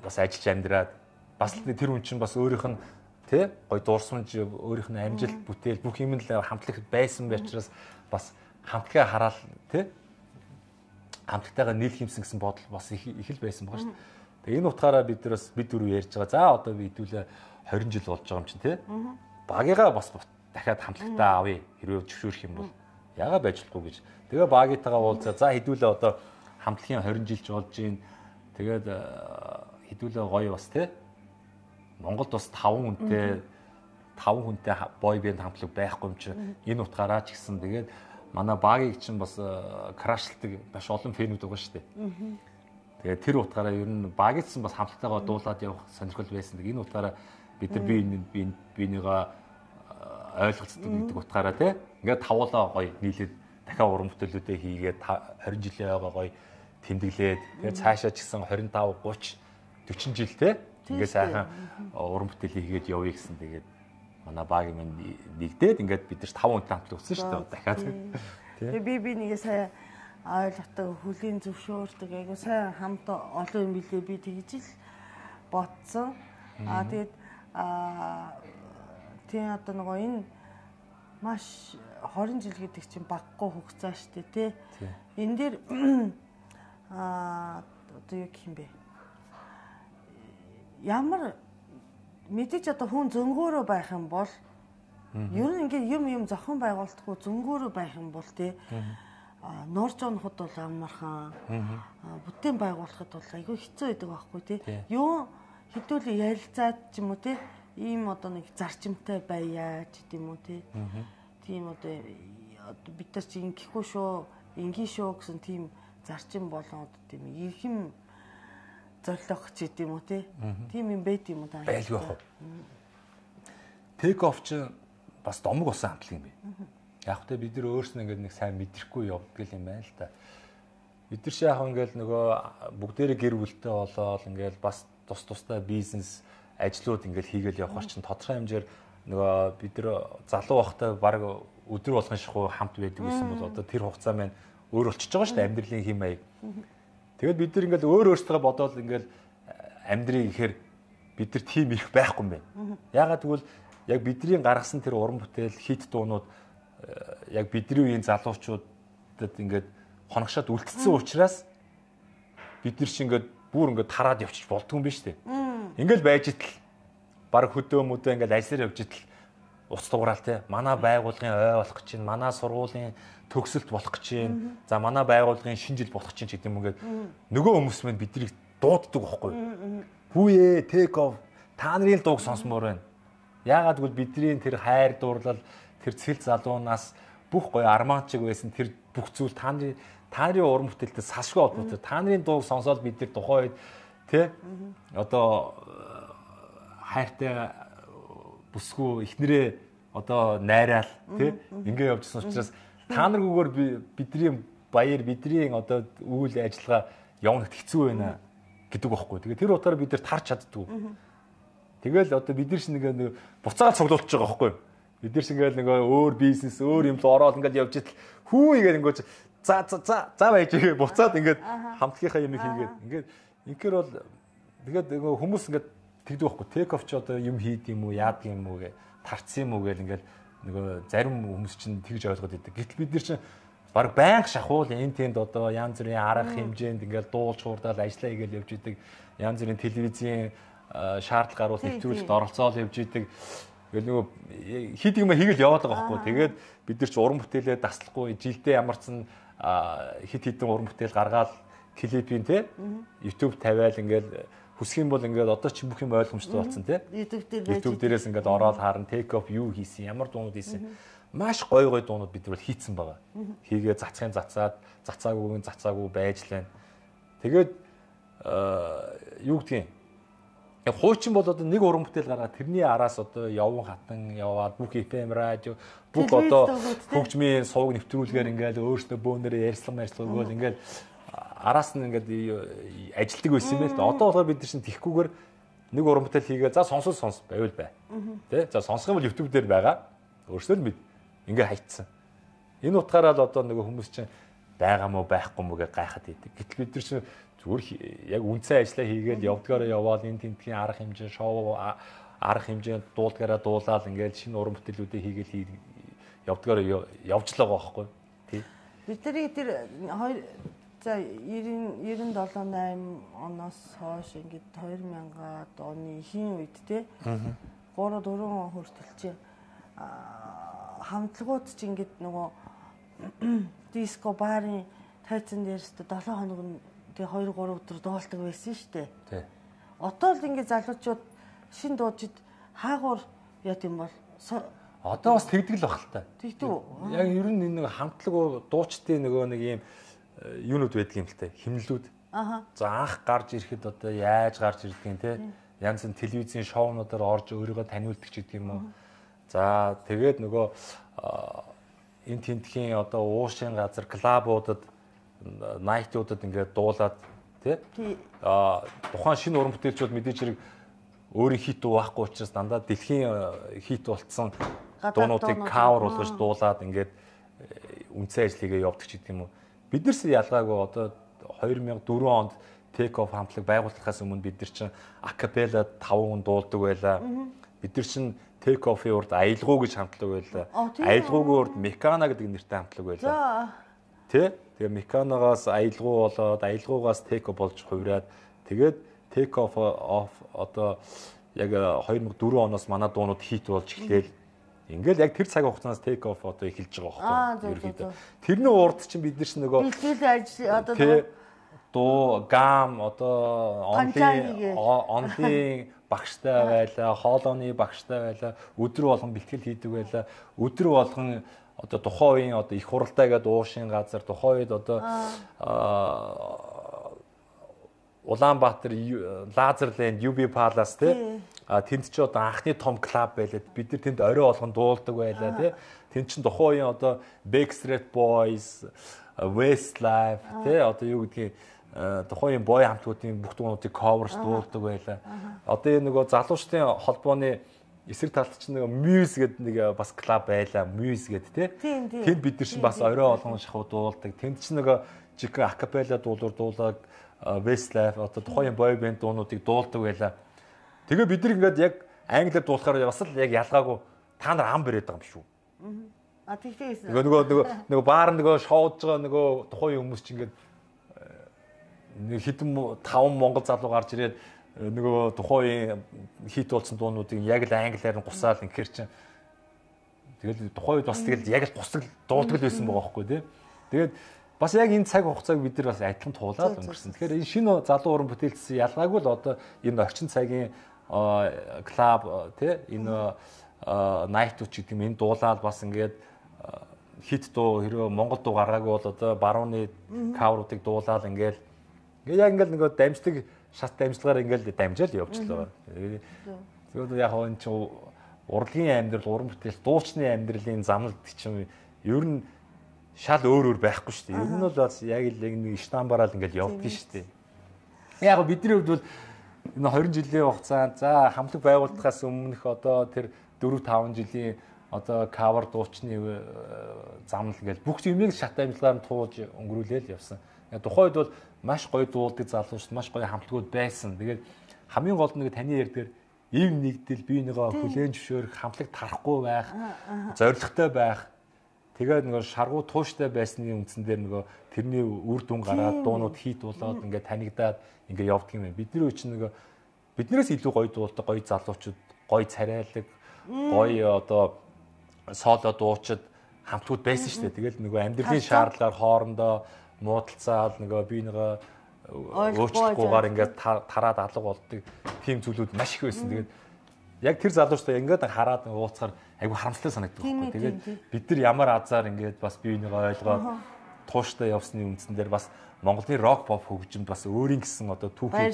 бас ажиллаж амьдраад бас тэр хүн чинь бас өөрийнх нь тий гой дуурсамж өөрийнх нь амжилт бүтээл бүх юм л хамтлаг байсан байучраас бас хамтлагаа хараад тий хамтлагтайгаа нийлэх юмсан гэсэн бодол бас их их л байсан байгаа шүү дээ. Тэгээ энэ утгаараа бид нар бас бид дөрөв ярьж байгаа. За одоо би хэдүүлээ хорин жил болж байгаа юм чинь тий. Багийгаа бас дахиад хамтлагтаа авъя. Хэрвээ зөвшөөрөх юм бол яага байж болохгүй гэж. Тэгээ багийнтайгаа уулзаа. За хэдүүлээ одоо хамтлагийн хорин жилч болж гин. Тэгээд хэдүүлээ гоё бас тий. Монголд бас таван хүнтэй таван хүнтэй бой бэнд хамтлаг байхгүй юм чи энэ утгаараа ч гэсэн тэгээд манай багийг чинь бас крашлдаг маш олон фэнүүд байгаа шүү дээ. Тэгээд тэр утгаараа ер нь багийнсан бас хамтлагтайгаа дуулаад явах сонирхол байсан. Энэ утгаараа бид нар би бинийгаа ойлголцдог гэдэг утгаараа тий. Ингээд тавуулаа гоё нийлээд дахиад уран бүтээлүүдээ хийгээд хорин жилийн ойгоо гоё тэмдэглээд тэгээд цаашаа ч гэсэн двадцать пять тридцать сорок жил тий. Ингээд сайхан уран бүтээл хийгээд явъя гэсэн тэгээд манай багийн минь нэгдээд ингээд бид нар таван хүнтэй хамтлаг өгсөн шүү дээ дахиад. Тэгээ би би нэгэ сая ойлгохтой хүлийн зөвшөөрдөг айгу сайн хамт олон юм билээ би тэгж л бодсон. Аа тэгээд аа тийм одоо нөгөө энэ маш хорин жил гэдэг чинь баггүй хугацаа шүү дээ тий. Энэ дээр аа одоо юу гэх юм бэ? Ямар мэдээж одоо хүн зөнгөөрөө байх юм бол ер нь ингээд юм юм зохион байгуулалтгүй зөнгөөрөө байх юм бол тий нуурж оноход бол амархан бүтээн байгуулахад бол айгүй хэцүү байдаг байхгүй тий юу хэдүүл ярилцаад ч юм уу тий ийм одоо нэг зарчимтай байя ч гэдэм үү тий тийм одоо бид нар чи ингэхгүй шүү ингийн шүү гэсэн тийм зарчим болон одоо тийм ирхэм зорлох ч гэдэм үү тий тийм юм байт юм уу та байлгүй яах вэ Take off ч бас домог болсон хамтлаг юм бэ. Яг тэ бид нар өөрснөө ингээд нэг сайн мэдрэхгүй явдаг юм байна л да. Бид нар шаах ингээд нөгөө бүгдээрээ гэр бүлтэй болоод ингээд бас тус тустай бизнес ажлууд ингээд хийгээл явхаар чинь тодорхой хэмжээр нөгөө бид нар залуу байхдаа баг өдөр болгон шахуу хамт байдаг гэсэн бол одоо тэр хугацаа маань өөр болчихж байгаа шүү дээ амьдралын хэм маяг. Тэгээд бид нар ингээд өөр өөртөө бодоод ингээд амьдрыг ихээр бид нар тийм их байхгүй юм байна. Яагаад гэвэл яг бидний гаргасан тэр уран бүтээл хит дуунууд яг бидний үеийн залуучуудад ингээд хоногшоод үлдсэн учраас бид нар чи ингээд бүр ингээд тараад явчих болдгүй юм биш үү? Ингээд байж итл баг хөдөө мөдөө ингээд ажлаар явж итл уц дугараал те манай байгууллагын ой болох гэж чинь манай сургуулийн төгсөлт болох гэж чинь за манай байгууллагын шинэ жил болох гэж чинь гэдэг юм ингээд нөгөө хүмүүс маань биднийг дууддаг байхгүй юу? Хүүе take off та нарын дууг сонсомоор байна. Яагаад гэвэл бидний тэр хайр дуурлал тэр цэл залуунаас бүх гоё арманчиг байсан тэр бүх зүйл та нарын та нарын уран бүтээлтэй салшгүй холбоотой. Та нарын дууг сонсоод бид тэр тухайн үед тий одоо хайртай бүсгүй ихнэрээ одоо найраал тий ингэ явжсан учраас та наргүйгээр бидний баяр бидний одоо үйл ажиллагаа явна хэцүү байна гэдэг байхгүй. Тэгээ тэр утгаараа бид нар тарч чаддгүй. Тэгэл одоо бид нар шиг нэг буцаагаад цуглуулж байгаа байхгүй. Бид нар шиг ингээл нэг өөр бизнес өөр юм л ороод ингээд явж идэл хүү игээд ингээд за за за за байж игээ буцаад ингээд хамтгийнхаа юм хийгээд ингээд инхээр бол тэгээд хүмүүс ингээд тэгдэг байхгүй. Take off ч одоо юм хийд юм уу яад юм уу гэ тарцсан юм уу гээл ингээд нөгөө зарим хүмүүс чинь тэгж ойлгоод идэг. Гэтэл бид нар чинь баг байнга шахуул энэ тэнд одоо янз бүрийн арга хэмжээнд ингээд дуулж хуурдаал ажиллаа хийгээл явж идэг. Янз бүрийн телевизийн шаардлага гаруул нэвтрүүлэлт оролцоол явж идэг. Тэгэл нөгөө хид юм хийгээл яваад байгаа байхгүй. Тэгээд бид нар ч уран бүтээлээ таслахгүй жилдээ ямарсан хит хитэн уран бүтээл гаргаад клипийн те YouTube тавиал ингээд хүсэх юм бол ингээд одоо ч бүх юм ойлгомжтой болсон те. YouTube дээр YouTube дээрээс ингээд ороод харан take off юу хийсэн, ямар дуунууд хийсэн. Маш гой гой дуунууд бид нар хийцэн байгаа. Хийгээ цацхын цацаад, цацаагүйн цацаагүй байж лээ. Тэгээд юу гэдгийг яг хуучин бол одоо нэг уран бүтээл гаргаад тэрний араас одоо явган хатан яваад бүх эф эм радио бүх одоо хөгжмийн сувг нэвтрүүлгээр ингээд өөрснөө бөөнөрөө ярьслан ярьслан өгөөл ингээд араас нь ингээд ажилтдаг байсан юм байл та. Одоо болохоор бид нар чинь тихгүйгээр нэг уран бүтээл хийгээ за сонсол сонс байвал бай. Тэ? За сонсох юм бол YouTube дээр байгаа. Өөрсдөө л бид ингээд хайцсан. Энэ утгаараа л одоо нөгөө хүмүүс чинь байгаа мó байхгүй мó гэж гайхаад идэг. Гэтэл бид нар чинь зүгээр яг үнцэн ажиллаа хийгээд явдгаараа яваал энэ тентгийн арга хэмжээ шоу арга хэмжээнд дуулдгаараа дуулаад ингээд шинэ уран бүтээлүүдээ хийгээл явдгаар явж л байгаа байхгүй тий. Бидний тэр хоёр за девяносто седем восемь оноос хойш ингээд две тысячи оны ихэнх үед тий три дөрвөн он хүртэл чи хамтлагууд чи ингээд нөгөө диско барын тайзан дээрс seven хоног тэг two three өдөр дуулдаг байсан шүү дээ. Тий. Одоо л ингээд залуучууд шин дуужид хаагуур яд юм бол одоо бас тэгдэг л баг л та. Тэгдэг. Яг ер нь энэ нэг хамтлаг дуучдын нөгөө нэг юм юунууд байдаг юм л та. Химнэлүүд. Аха. За анх гарч ирэхэд одоо яаж гарч ирдгийг те. Янз бүрийн телевизийн шоунуудаар орж өөрийгөө таниулдаг ч гэдэг юм уу. За тэгээд нөгөө энэ тентхийн одоо уушийн газар клабуудад найтуудад ингээд дуулаад тий а тухайн шинэ уран бүтээлчүүд мэдээж хэрэг өөрийн хит байхгүй учраас дандаа дэлхийн хит болцсон дуунуудыг кавер болгож дуулаад ингээд үнцэн ажил хийгээ явдаг ч гэдэг юм уу. Биднээс ялгаагүй одоо two thousand four онд Take Off хамтлаг байгуулахаас өмнө бид нар чинь акапелла five хүн дуулдаг байлаа. Бид нар чинь Take Off-ийн урд аялгуу гэж хамтлаг байлаа. Аялгуугийн урд Мекана гэдэг нэртэй хамтлаг байлаа. Тэ? Тэгээ Меканагаас аялгуу болоод аялгуугаас Take Off болж хувираад тэгээд Take Off одоо яг two thousand four оноос манай дуунууд хит болж эхлээл. Ингээл яг тэр цаг хугацаанаас Take Off одоо эхэлж байгаа байхгүй юу? Ерөнхийдөө. Тэрний урд чинь бид нар ч нөгөө бэлтгэл ажил одоо дуу гам одоо онлайн онлайн багштай байлаа, хоолойны багштай байлаа, өдөр болгон бэлтгэл хийдэг байлаа. Өдөр болгон одоо тухайн үеийн одоо их хуралдаа гэдэг уушийн газар тухайн үед одоо Улаанбаатар Лазерленд ю би Palace тий а тэнд ч одоо анхны том клуб байлаа. Бид нар тэнд орой болгон дуулдаг байлаа тий. Тэнд чинь тухайн үеийн одоо Backstreet Boys, Westlife тий одоо юу гэдгийг тухайн бой хамтуудын бүх дуунуудыг coverж дуулдаг байлаа. Одоо энэ нөгөө залуучдын холбооны эсрэг талд чинь нэг Muse гэдэг нэг бас клуб байлаа. Muse гэдэг тий. Тэнд бид нар чинь бас орой болгон шахуу дуулдаг. Тэнд чинь нөгөө жиг акапелла дуулуур дуулаад Westlife одоо тухайн бой бэнд дуунуудыг дуулдаг байлаа. Тэгээ бид нар ингээд яг англиар дуулахаар бас л яг ялгаагүй та нар ам бариад байгаа юм шүү. А тэгтэйсэн. Нөгөө нөгөө нөгөө баар нөгөө шоудж байгаа нөгөө тухайн хүмүүс чинь ингээд нэг хэдэн таван монгол залуу гарч ирээд нөгөө тухайн хит болсон дуунуудыг яг л англиар нь гусаал инхээр чинь тэгэл тухайн үед бас тэгэл яг л гусаг дуулдаг л байсан байгаа байхгүй тий. Тэгээд бас яг энэ цаг хугацааг бид нар бас адилхан туулаад өнгөрсөн. Тэгэхээр энэ шинэ залуу уран бүтээлчсэн ялгаагүй л одоо энэ орчин цагийн клуб тий энэ найтууд ч гэдэг юм энэ дуулаад бас ингээд хит дуу хэрвээ монгол дуу гаргаагүй бол одоо барууны кавруудыг дуулаад ингээд ингээ яг ингээл нөгөө дамждаг шат дамжлагаар ингээл дамжаал явчихлаа. Тэгээд яг энэ ч урлагийн амьдрал, уран бүтээл, дуучны амьдралын замналд чинь ер нь шал өөр өөр байхгүй шүү дээ. Ер нь бол бас яг л нэг штамбараар ингээл явдаг шүү дээ. Яг бидний хувьд бол энэ twenty жилийн хугацаанд за хамтлаг байгуулахаас өмнөх одоо тэр four five жилийн одоо кавер дуучны замнал ингээл бүх юмыг шат дамжлагаар нь туулж өнгөрүүлээл явсан. Тухайд бол маш гоё дуулдаг залуучд маш гоё хамтлагууд байсан. Тэгээд хамгийн гол нь таны ярьдгаар ив нэгдэл биенийгаа хүлээн зөвшөөрөх, хамтлаг тарахгүй байх, зоригтой байх. Тэгээд нөгөө шаргуу тууштай байсны үндсэн дээр нөгөө тэрний үр дүн гараад дуунууд хит болоод ингээд танигдаад ингээд явдаг юм байна. Бидний үуч нөгөө биднээс илүү гоё дуулдаг гоё залуучууд, гоё царайлаг, гоё одоо соло дуучид хамтлагууд байсан шүү дээ. Тэгэл нөгөө амьдралын шаардлагаар хоорондоо муудалцаал нөгөө биенийгаа өөрчлөхгүйгээр ингээд тараад алга болдог тийм зүйлүүд маш их байсан. Тэгээд яг тэр залуучтай ингээд хараад уулзахаар айгу харамсалтай санагддаг байхгүй. Тэгээд бид нар ямар азар ингээд бас биенийгаа ойлгоод тууштай явсны үндсэн дээр бас Монголын рок поп хөгжимд бас өөрийн гэсэн одоо түүхий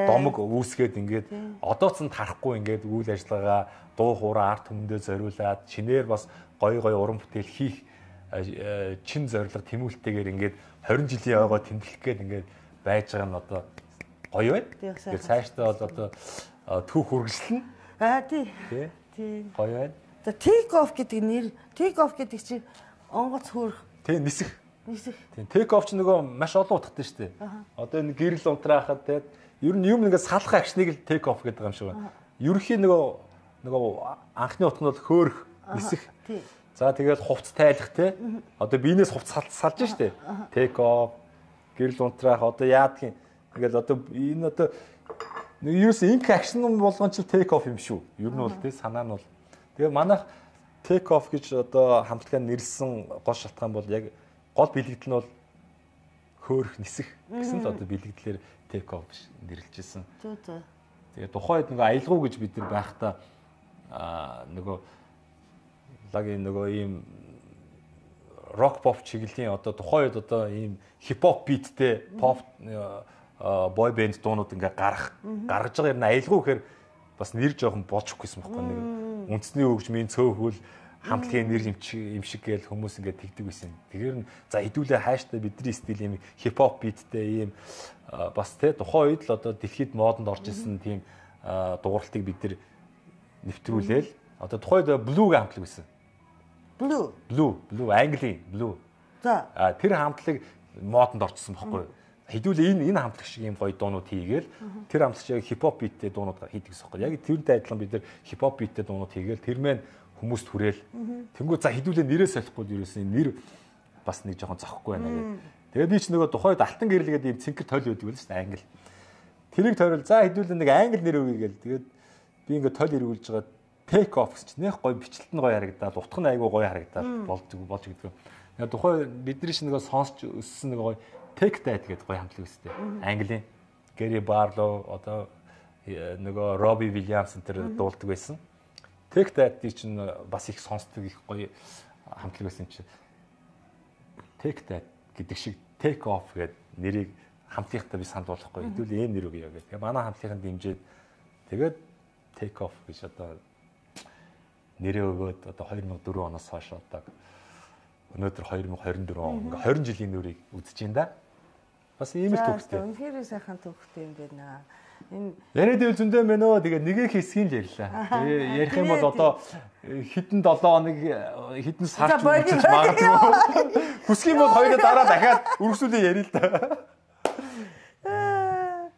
домог үүсгээд ингээд одооц нь тарахгүй ингээд үйл ажиллагаа дуу хуурай арт түмэндээ зориулаад шинээр бас гоё гоё уран бүтээл хийх чин зорилго тэмүүлэлтэйгээр ингээд twenty жилийн ойгоо тэмдэглэх гээд ингээд байж байгаа нь одоо гоё байна. Тэгэхээр цаашдаа бол одоо түүх үргэлжлэнэ. Аа тий. Тий. Гоё байна. За Take Off гэдэг нэр Take Off гэдэг чинь онгоц хөөрх. Тий нисэх. Нисэх. Тий Take Off ч нөгөө маш олон утгатай шүү дээ. Одоо энэ гэрэл унтраахад тэгээд ер нь юм ингээд салах акшныг л Take Off гэдэг юм шиг байна. Ерөнхийн нөгөө нөгөө анхны утга нь бол хөөх, нисэх. За тэгээд хувц тайлах те. Одоо биенээс хувц салж штэ. Take off, гэрэл унтраах одоо яадгийн ингээл одоо энэ одоо ерөөс инк акшн болгон ч take off юм шүү. Ер нь бол те санаа нь бол. Тэгээ манайх take off гэж одоо хамтлагаа нэрлсэн гол шалтгаан бол яг гол бэлэгдэл нь бол хөөх, нисэх гэсэн л одоо бэлэгдлэр take off нэрлэжсэн. Зөө зөө. Тэгээ тухайд нөгөө аялгау гэж бид нар байхдаа аа нөгөө лагийн нөгөө ийм рок pop чиглэлийн одоо тухайд одоо ийм хипхоп биттэй pop бой бэнд дуунууд ингээ гарах гаргаж байгаа юм аялгау гэхээр бас нэр жоохон болж өгөхгүйсэн байхгүй нэг үндэсний хөгжмийн цөөхөл хамтлагийн нэр юм шиг гээл хүмүүс ингээ тэгдэг байсан. Тэгэхээр нь за хэдүүлээ хааштай бидний стил ийм хипхоп биттэй ийм бас те тухайн үед л одоо дэлхийд модонд орж исэн тийм дууралтыг бид нар нэвтрүүлээл одоо тухайд блүүг хамтлаг байсан. Blue. Blue, blue, Английн blue. За. А тэр хамтлаг модонд орчихсон байхгүй юу? Хэдүүлээ энэ энэ хамтлаг шиг юм гоё дуунууд хийгээл тэр хамтлагч яг хипхоп биттэй дуунууд хийдэг гэсэн юм. Яг тэрнтэй адилхан бид нар хипхоп биттэй дуунууд хийгээл тэр мэн хүмүүст хүрээл. Тэнгүү за хэдүүлээ нэрээ солихгүй ерөөсөн нэр бас нэг жоохон зохгүй байна гэдэг. Тэгээ би ч нөгөө тухайд алтан гэрэлгээд ийм цэнхэр тойл байдаг байл шүү дээ англи. Тэрийг тойрол за хэдүүлээ нэг англи нэр өгье гээл. Тэгээд би ингээд тойл эргүүлж байгаа take off гэж нэх гоё бичлэлт нь гоё харагдаад утга нь айгүй гоё харагдаад болдог болж гэдэг. Яг тухай бидний шиг нэг сонсч өссөн нэг гоё take that гэдэг гоё хамтлаг өстэй. Английн Gary Barlow одоо нөгөө Robbie Williams энэ дуулдаг байсан. Take that чинь бас их сонсдог их гоё хамтлаг байсан чинь take that гэдэг шиг take off гэдэг нэрийг хамтлагтай би санд болохгүй. Хэдүүл ийм нэр өгье гэх. Тэгээ манай хамтлагын дэмжиж тэгээд take off гэж одоо нэрээ өгөөд одоо two thousand four оноос хойш одоо өнөөдөр twenty twenty-four он ингээ twenty жилийн нүрийг үзэж байна да. Бас ийм л төвхтэй. Үнэхээр сайхан төвхтэй юм байна. Энэ яриад ивэл зөндөө мэн өө тэгээ нэгийг хэсгийн л ярьлаа. Ярих юм бол одоо хэдэн seven хоног хэдэн сар ч магадгүй. Хүсэх юм бол хоёроо дараа дахиад үргэлжлүүлээ ярил л да.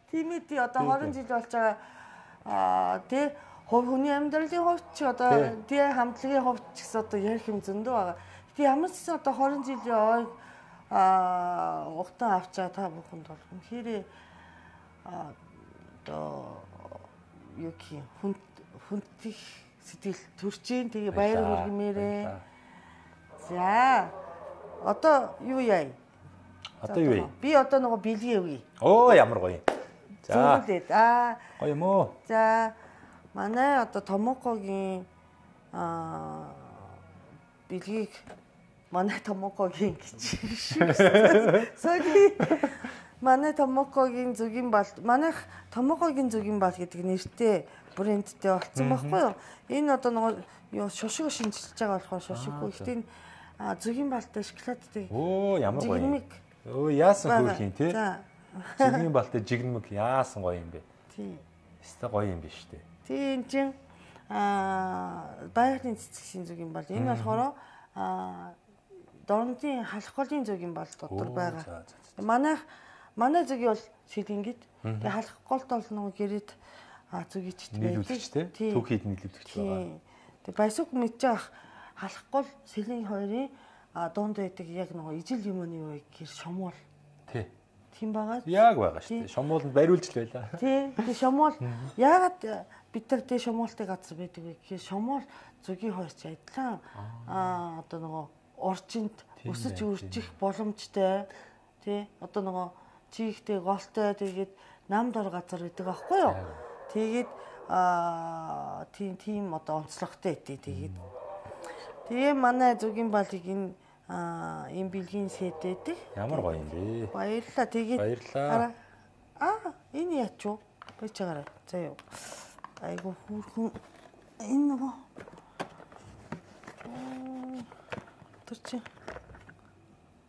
Тимэти одоо twenty жил болж байгаа аа тий хүний амьдралын хувьд ч одоо тий хамтлагийн хувьд ч гэсэн одоо ярих юм зөндөө байгаа. Тий ямар ч гэсэн одоо twenty жилийн ой аа ухтан авчаа та бүхэнд бол үнэхээр аа одоо юу гэх хүн хүндих сэтгэл төрж ийн тэгээ баяр хүргэмээрээ. За одоо юу яа? Одоо юу вэ? Би одоо нөгөө бэлгээ өгье. Оо ямар гоё. За. Аа гоё юм уу? За манай одоо Томокогийн аа бэлгийг манай Томокогийн гэж шиг. Sorry. Манай Томокогийн зүгийн бал манайх Томокогийн зүгийн бал гэдэг нэртэй брэндтэй болсон байхгүй юу? Энэ одоо нөгөө юу шошго шинжилж байгаа болохоор шошгогүй. Гэхдээ зүгийн балтай шоколадтай. Оо ямар гоё. Өө яасан хөөх юм те. Зүгийн балтай жигнэмэг яасан гоё юм бэ? Тий. Өстой гоё юм биш үү? Тий энэ чинь аа байгалийн цэцгийн зүгийн бал. Энэ болохоор аа дорнодын халахголын зүгийн бал дотор байгаа. Манайх манай зүгийн бол шилгэнгид. Тэгээ халахголт бол нөгөө гэрэд зүгийчт байдаг. Түүхийд нийлүүлэгч байгаа. Тэгээ байсук мэдж байгаа халахгол сэлэн хоёрын дунд байдаг яг нөгөө ижил юмны юу гэр шомуул. Тий. Тийм байгаа. Яг байгаа шүү дээ. Шомууланд бариулж л байлаа. Тий. Тэгээ шомуул яагаад бид нар тий шомуултай газар байдаг вэ гэхээр шомуул зүгийн хоёрч адилхан аа одоо нөгөө орчинд өсөж үржих боломжтой. Тий. Одоо нөгөө чийгтэй голтой тэгээд нам дор газар байдаг аахгүй юу? Тэгээд аа тийм тийм одоо онцлогтой өгдөө тэгээд. Тэгээ манай зүгийн балыг энэ аа ийм бэлгийн сэтэдэг. Ямар гоё юм бэ? Баярлалаа. Тэгээд баярлалаа. Аа энэ яач вэ? Бич чагараа. За юу. Айгу хүүхэн энэ нөгөө тэр чи.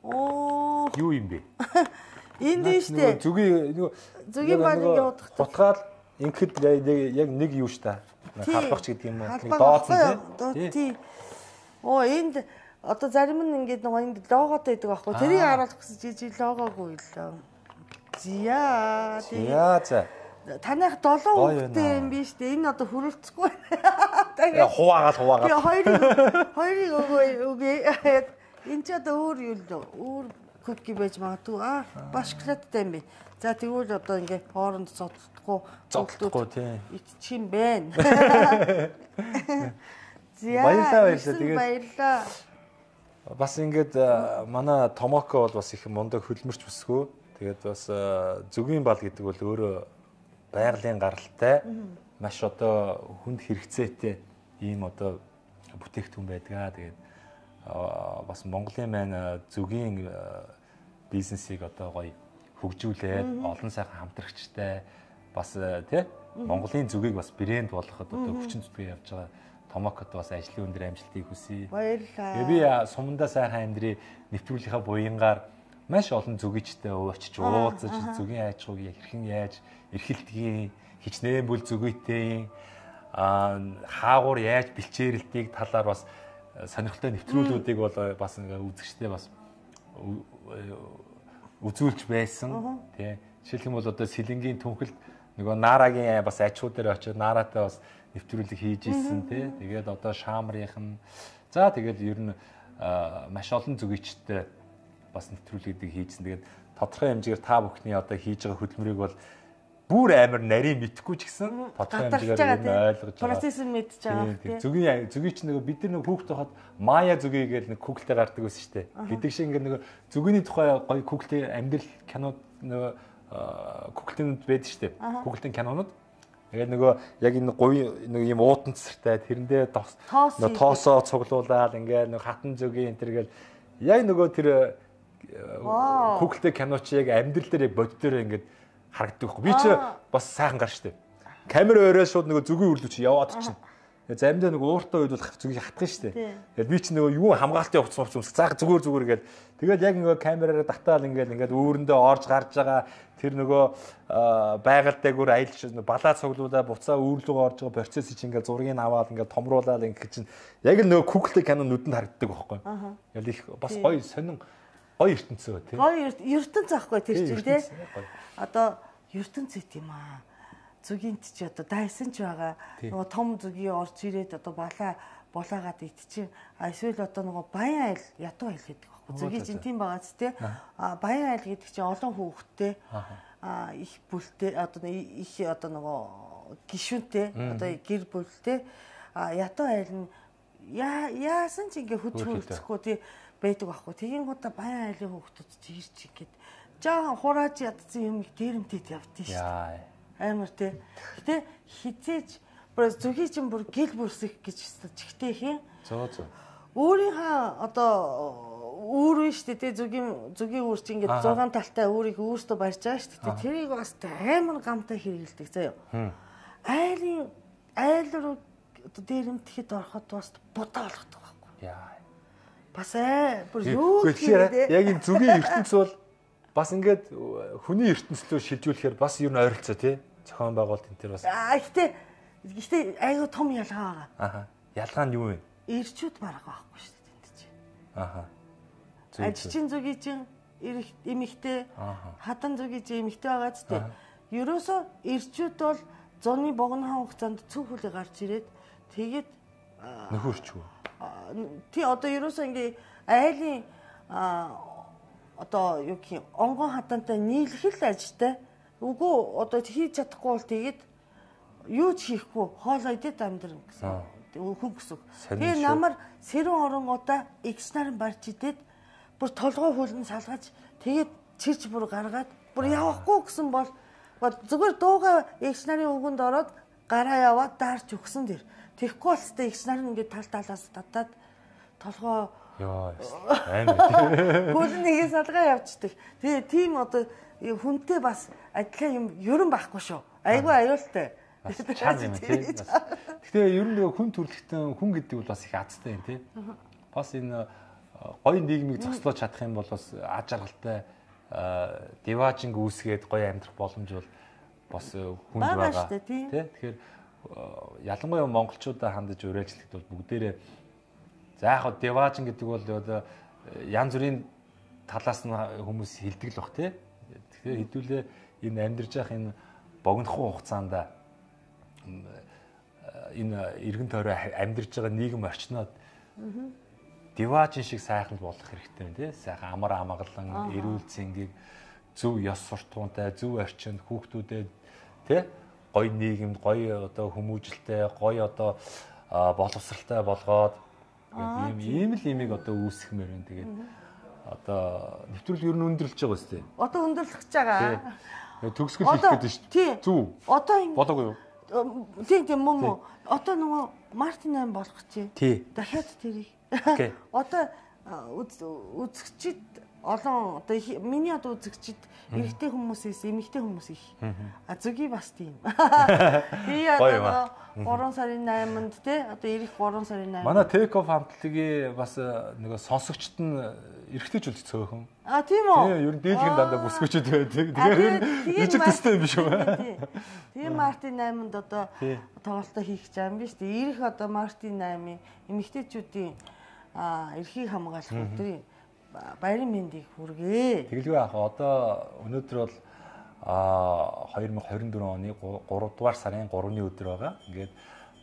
Оо юу юм бэ? Энэ дэжтэй. Зүгийн нөгөө зүгийн балыг явуудах. Утгаал ингээд яг нэг юу ш та. Халбагч гэдэг юм уу? Нэг дооцсон тий. Оо энд одоо зарим нь ингээд нөгөө энд логотой байдаг байхгүй. Тэрийг харуулах гэсэн жижиг логогүй л. Зя. За за. Танайх долоо хүүхдтэй юм биш үү? Энэ одоо хүрэлцэхгүй. Яа хуваагаад хуваагаад. Хоёрыг хоёрыг өгөө үгүй. Энд ч одоо өөр юу л өөр cookie байж магадгүй. Аа, башкладтай юм бэ. За тэгвэл одоо ингээ хооронд цоцдохгүй цоцдохгүй тий. Иччих юм байна. Баярлалаа баярлалаа. Тэгээд баярлалаа. Бас ингээд манай Томоко бол бас их мундаг хөлмөрч бүсгүй. Тэгээд бас зүгийн бал гэдэг бол өөрөө байгалийн гаралтай маш одоо хүнд хэрэгцээтэй ийм одоо бүтээгдэхүүн байдаг. Тэгээд бас Монголын маань зүгийн бизнесийг одоо гоё хөгжүүлээд олон сайхан хамтрагчтай бас тий Монголын зүгийг бас брэнд болгоход одоо хүчин зүтгэж явж байгаа Томокод бас ажлын өндөр амжилтыг хүсье. Баярлалаа. Би сумандаа сайхан амьдрий нэвтрүүлгийнхаа буянгаар маш олон зүгийчтэй уучиж уулзаж зүгийн аж ахуйг хэрхэн яаж эрхэлдгийг хичнээн бүл зүгийтэй аа хаагуур яаж бэлчээрэлтийг талаар бас сонирхолтой нэвтрүүлгүүдийг бол бас ингээ үзэгчтэй бас үзүүлж байсан тий. Жишээлх юм бол одоо Сэлэнгийн түнхэлд нөгөө Наарагийн бас ачуу дээр очиод Нааратай бас нэвтрүүлэг хийж ийсэн тий. Тэгээд одоо Шаамрынхан за тэгээд ер нь маш олон зүгийчтэй бас нэвтрүүлгүүдийг хийжсэн. Тэгээд тодорхой хэмжээгээр та бүхний одоо хийж байгаа хөдөлмөрийг бол бүр амар нарийн мэдхгүй ч гэсэн тодорхой хэмжээгээр ойлгож байгаа. Процесс нь мэдж байгаа тий. Зүгийн зүгийч нөгөө бид нар нөгөө хүүхд тоход Мая зүгий гэж нэг Google дээр гардаг байсан шүү дээ. Гэдэг шиг ингээд нөгөө зүгийний тухай гоё Google-ийн амьдрал кинод нөгөө Google-ийн байдаг шүү дээ. Google-ийн кинонууд. Тэгээд нөгөө яг энэ говь нэг юм уутан цэсэртэй тэрэндээ тоосоо цуглуулаад ингээд нэг хатан зүгийн энэ төргээл яг нөгөө тэр Google-тэй киноч яг амьдрал дээр яг бод дээр ингээд харагддаг байхгүй. Би ч бас сайхан гар штэ. Камер өрөө шууд нөгөө зүгийн үрлүү чи яваад чинь. Заримдаа нөгөө ууртай үед бол зүгийг хатгах штэ. Тэгээд би ч нөгөө юу хамгаалтын хувцас хувцас заах зүгээр зүгээр гээл. Тэгээд яг нөгөө камераараа татаал ингээд ингээд өөрөндөө орж гарч байгаа тэр нөгөө байгаль дээгүүр аялж балаа цуглуулаа буцаа үүрлүүгөө орж байгаа процесс чинь ингээд зургийг аваад ингээд томруулаад ингээд чинь яг л нөгөө Google кино нүдэнд харагддаг байхгүй. Яг их бас гоё сонин гоё ертөнцөө тий. Гоё ертөнц аахгүй тэр чинь тий. Одоо ертөнц үт юм аа. Зүгийнт чи одоо дайсан ч байгаа. Нөгөө том зүгийн орж ирээд одоо балаа булаагаад идчихин. А эсвэл одоо нөгөө баян айл ядуу айл гэдэг байхгүй. Зүгийн чинь тийм байгаа ч тий. А баян айл гэдэг чинь олон хүүхэдтэй а их бүлтэй одоо их одоо нөгөө гишүүнтэй одоо гэр бүлтэй а ядуу айл нь яасан ч ингээ хөдөлгөхгүй тий байдаг байхгүй. Тэгин гоо баян айлын хүүхдүүд чи ирч ингээд жаахан хурааж ядсан юм дээрэмтэд явдсан шүү дээ. Амар тий. Гэтэ хизээч бүр зүгийн чинь бүр гэл бүрсэх гэж чигтэй хин. Зөө зөө. Өөрийнхөө одоо үүрэн шүү дээ тий зүгийн зүгийн үүр чинь ингээд зургаан талтай өөрийг өөртөө барьж байгаа шүү дээ. Тэрийг бас амар гамтай хэрэгэлдэг заяа. Айлын айл руу одоо дээрэмтэхэд ороход бас будаа болгодог байхгүй. Яа. Бас ээ бүр юу гэхээр яг энэ зүгийн ертөнц бол бас ингээд хүний ертөнцлөө шилжүүлэхээр бас ер нь ойролцоо тий зохион байгуулалт энэ төр бас аа ихтэй ихтэй айгуу том ялгаа байгаа. Аха. Ялгаа нь юу вэ? Ирчүүд бараг байхгүй шүү дээ тэнд чинь. Аха. Ажчин зүгийн чинь эмэгтэй хадан зүгийн чинь эмэгтэй байгаа ч тий. Ерөөсөө ирчүүд бол зуны богино хугацаанд цүнхүлээ гарч ирээд тэгээд нөхөрчгүй. Тий одоо ерөөсөө ингээ айлын одоо юу гэх юм онгон хатантай нийлэх л ажтай. Үгүй одоо хийж чадахгүй бол тэгээд юу ч хийхгүй хоолоо идээд амьдрын гэсэн. Хүн гэсэн. Тэгээ намар сэрүүн оронгуудаа эгч нарын барьж идээд бүр толгой хөлн салгаж тэгээд чирч бүр гаргаад бүр явахгүй гэсэн бол зүгээр дууга эгч нарын өгөнд ороод гараа яваад даарч өгсөн дэр. Тэгэхгүй бол тэ эгч нар ингээд тал талаас татаад толгой яа амар хөлн нэгээ салгаа явчихдаг. Тэгээ тийм одоо хүнтэй бас адилхан юм ерөн байхгүй шүү. Айгүй аюултай. Гэхдээ ер нь нөгөө хүн төрөлхтөн хүн гэдэг бол бас их азтай юм тий. Бас энэ гоё нийгмийг зогслоож чадах юм бол бас аж аргалтай диважинг үүсгээд гоё амьдрах боломж бол бас хүнд байгаа тий. Тэгэхээр ялангуяа монголчуудаа хандаж уриалжлахад бол бүгдээрээ за яг хаа диважин гэдэг бол одоо янз бүрийн талаас нь хүмүүс хилдэг л бах тий. Тэгэхээр хэдүүлээ энэ амьдарч явах энэ богинохын хугацаанд энэ эргэн тойроо амьдарч байгаа нийгэм орчноод диваажин шиг сайхан болох хэрэгтэй юм тий. Сайхан амар амгалан, эрүүл зэнгийг зөв ёс суртахуунтай, зөв орчинд хүүхдүүдэд тий гоё нийгэмд, гоё одоо хүмүүжлтэй, гоё одоо боловсралтай болгоод ийм ийм л имийг одоо үүсгэмээр байна. Тэгээд одоо нэвтрүүл ер нь өндөрлөж байгаа үстэй. Одоо өндөрлөж байгаа. Төгсгөл хийх гэдэг шүү дээ. Зүв. Одоо ингэ болоогүй юу? Тийм тийм мөн мөн. Одоо нөгөө Мартин аймаг болгох чи. Дахиад тэрийг. Окей. Одоо үзэгчид олон одоо миний одоо үзэгчид эрэгтэй хүмүүсээс эмэгтэй хүмүүс их. А зүгий бас тийм. Би одоо гурван сарын найманд те одоо ирэх гурван сарын найманд. Манай Take Off хамтлагийн бас нөгөө сонсогчд нь эрэгтэйчүүд цөөхөн. А тийм үү? Тийм, ер нь дийлхэн дандаа бүсгүүчүүд байдаг. Тэгэхээр ижил төстэй юм биш үү? Тийм Мартин найманд одоо тоглолтоо хийх гэж байгаа юм биш үү? Ирэх одоо Мартин наймын эмэгтэйчүүдийн эрхийг хамгаалах өдрийн баярын мэндийг хүргэе. Тэгэлгүй яах вэ? Одоо өнөөдөр бол хоёр мың хорин дөрвөн оны гурав дугаар сарын гуравны өдөр байгаа. Ингээд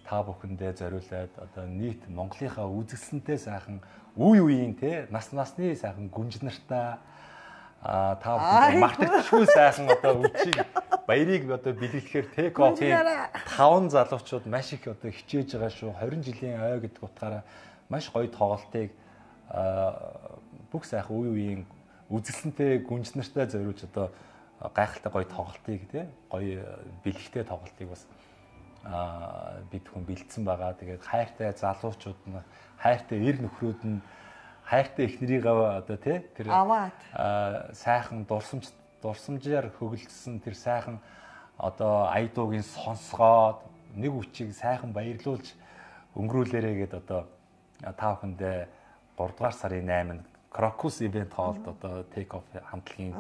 та бүхэндээ зориулаад одоо нийт Монголынхаа үзэсгэлэнтэй сайхан үе үеийн те нас насны сайхан гүнж нартай та бүхэн мартагдчихгүй сайхан одоо үчиг баярыг одоо бэлгэлэхээр Take Off-ийн таван залуучууд маш их одоо хичээж байгаа шүү. хорин жилийн ой гэдэг утгаараа маш гоё тоглолтыг бүх сайхан үе үеийн үзэсгэлэнтэй гүнж нартай зориулж одоо гайхалтай гоё тоглолтыг тий гоё бэлгэхтэй тоглолтыг бас аа бид хүн бэлдсэн байгаа. Тэгээд хайртай залуучууд нь хайртай эр нөхрүүд нь хайртай эхнэрийгээ одоо тий тэр аваад сайхан дурсамж дурсамжаар хөглөсөн тэр сайхан одоо айдуугийн сонсгоод нэг үчиг сайхан баярлуулж өнгөрүүлээрэ гэд одоо та бүхэндээ гурав дугаар сарын найманд Крокус ивент хоолд одоо Take Off хамтлагийн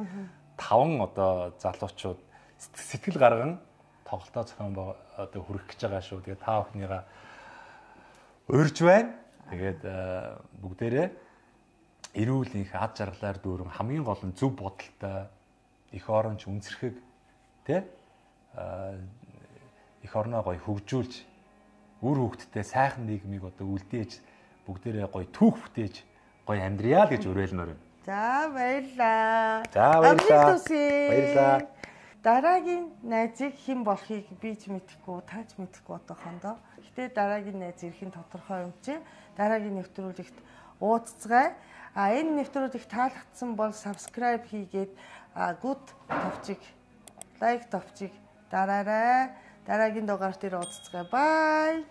таван одоо залуучууд сэтгэл гарган тоглолтоо зохион одоо хүргэх гэж байгаа шүү. Тэгээд та бүхнийгаа урьж байна. Тэгээд бүгдээрээ эрүүл их ад жаргалаар дүүрэн хамгийн гол нь зөв бодолтой их оронч үнсэрхэг тий их орноо гоё хөгжүүлж үр хөвгтдээ сайхан нийгмийг одоо үлдээж бүгдээрээ гоё түүх бүтээж гоё амьдрья л гэж уриалмаар байна. За баярлаа. За баярлаа. Баярлаа. Дараагийн найзыг хэн болохыг би ч мэдэхгүй, та ч мэдэхгүй одоохондоо. Гэтэ дараагийн найз ирэх нь тодорхой юм чи. Дараагийн нэвтрүүлэгт уулзцгаая. А энэ нэвтрүүлэг таалагдсан бол subscribe хийгээд good товчиг, like товчиг дараарай. Дараагийн дугаар дээр уулзцгаая. Bye.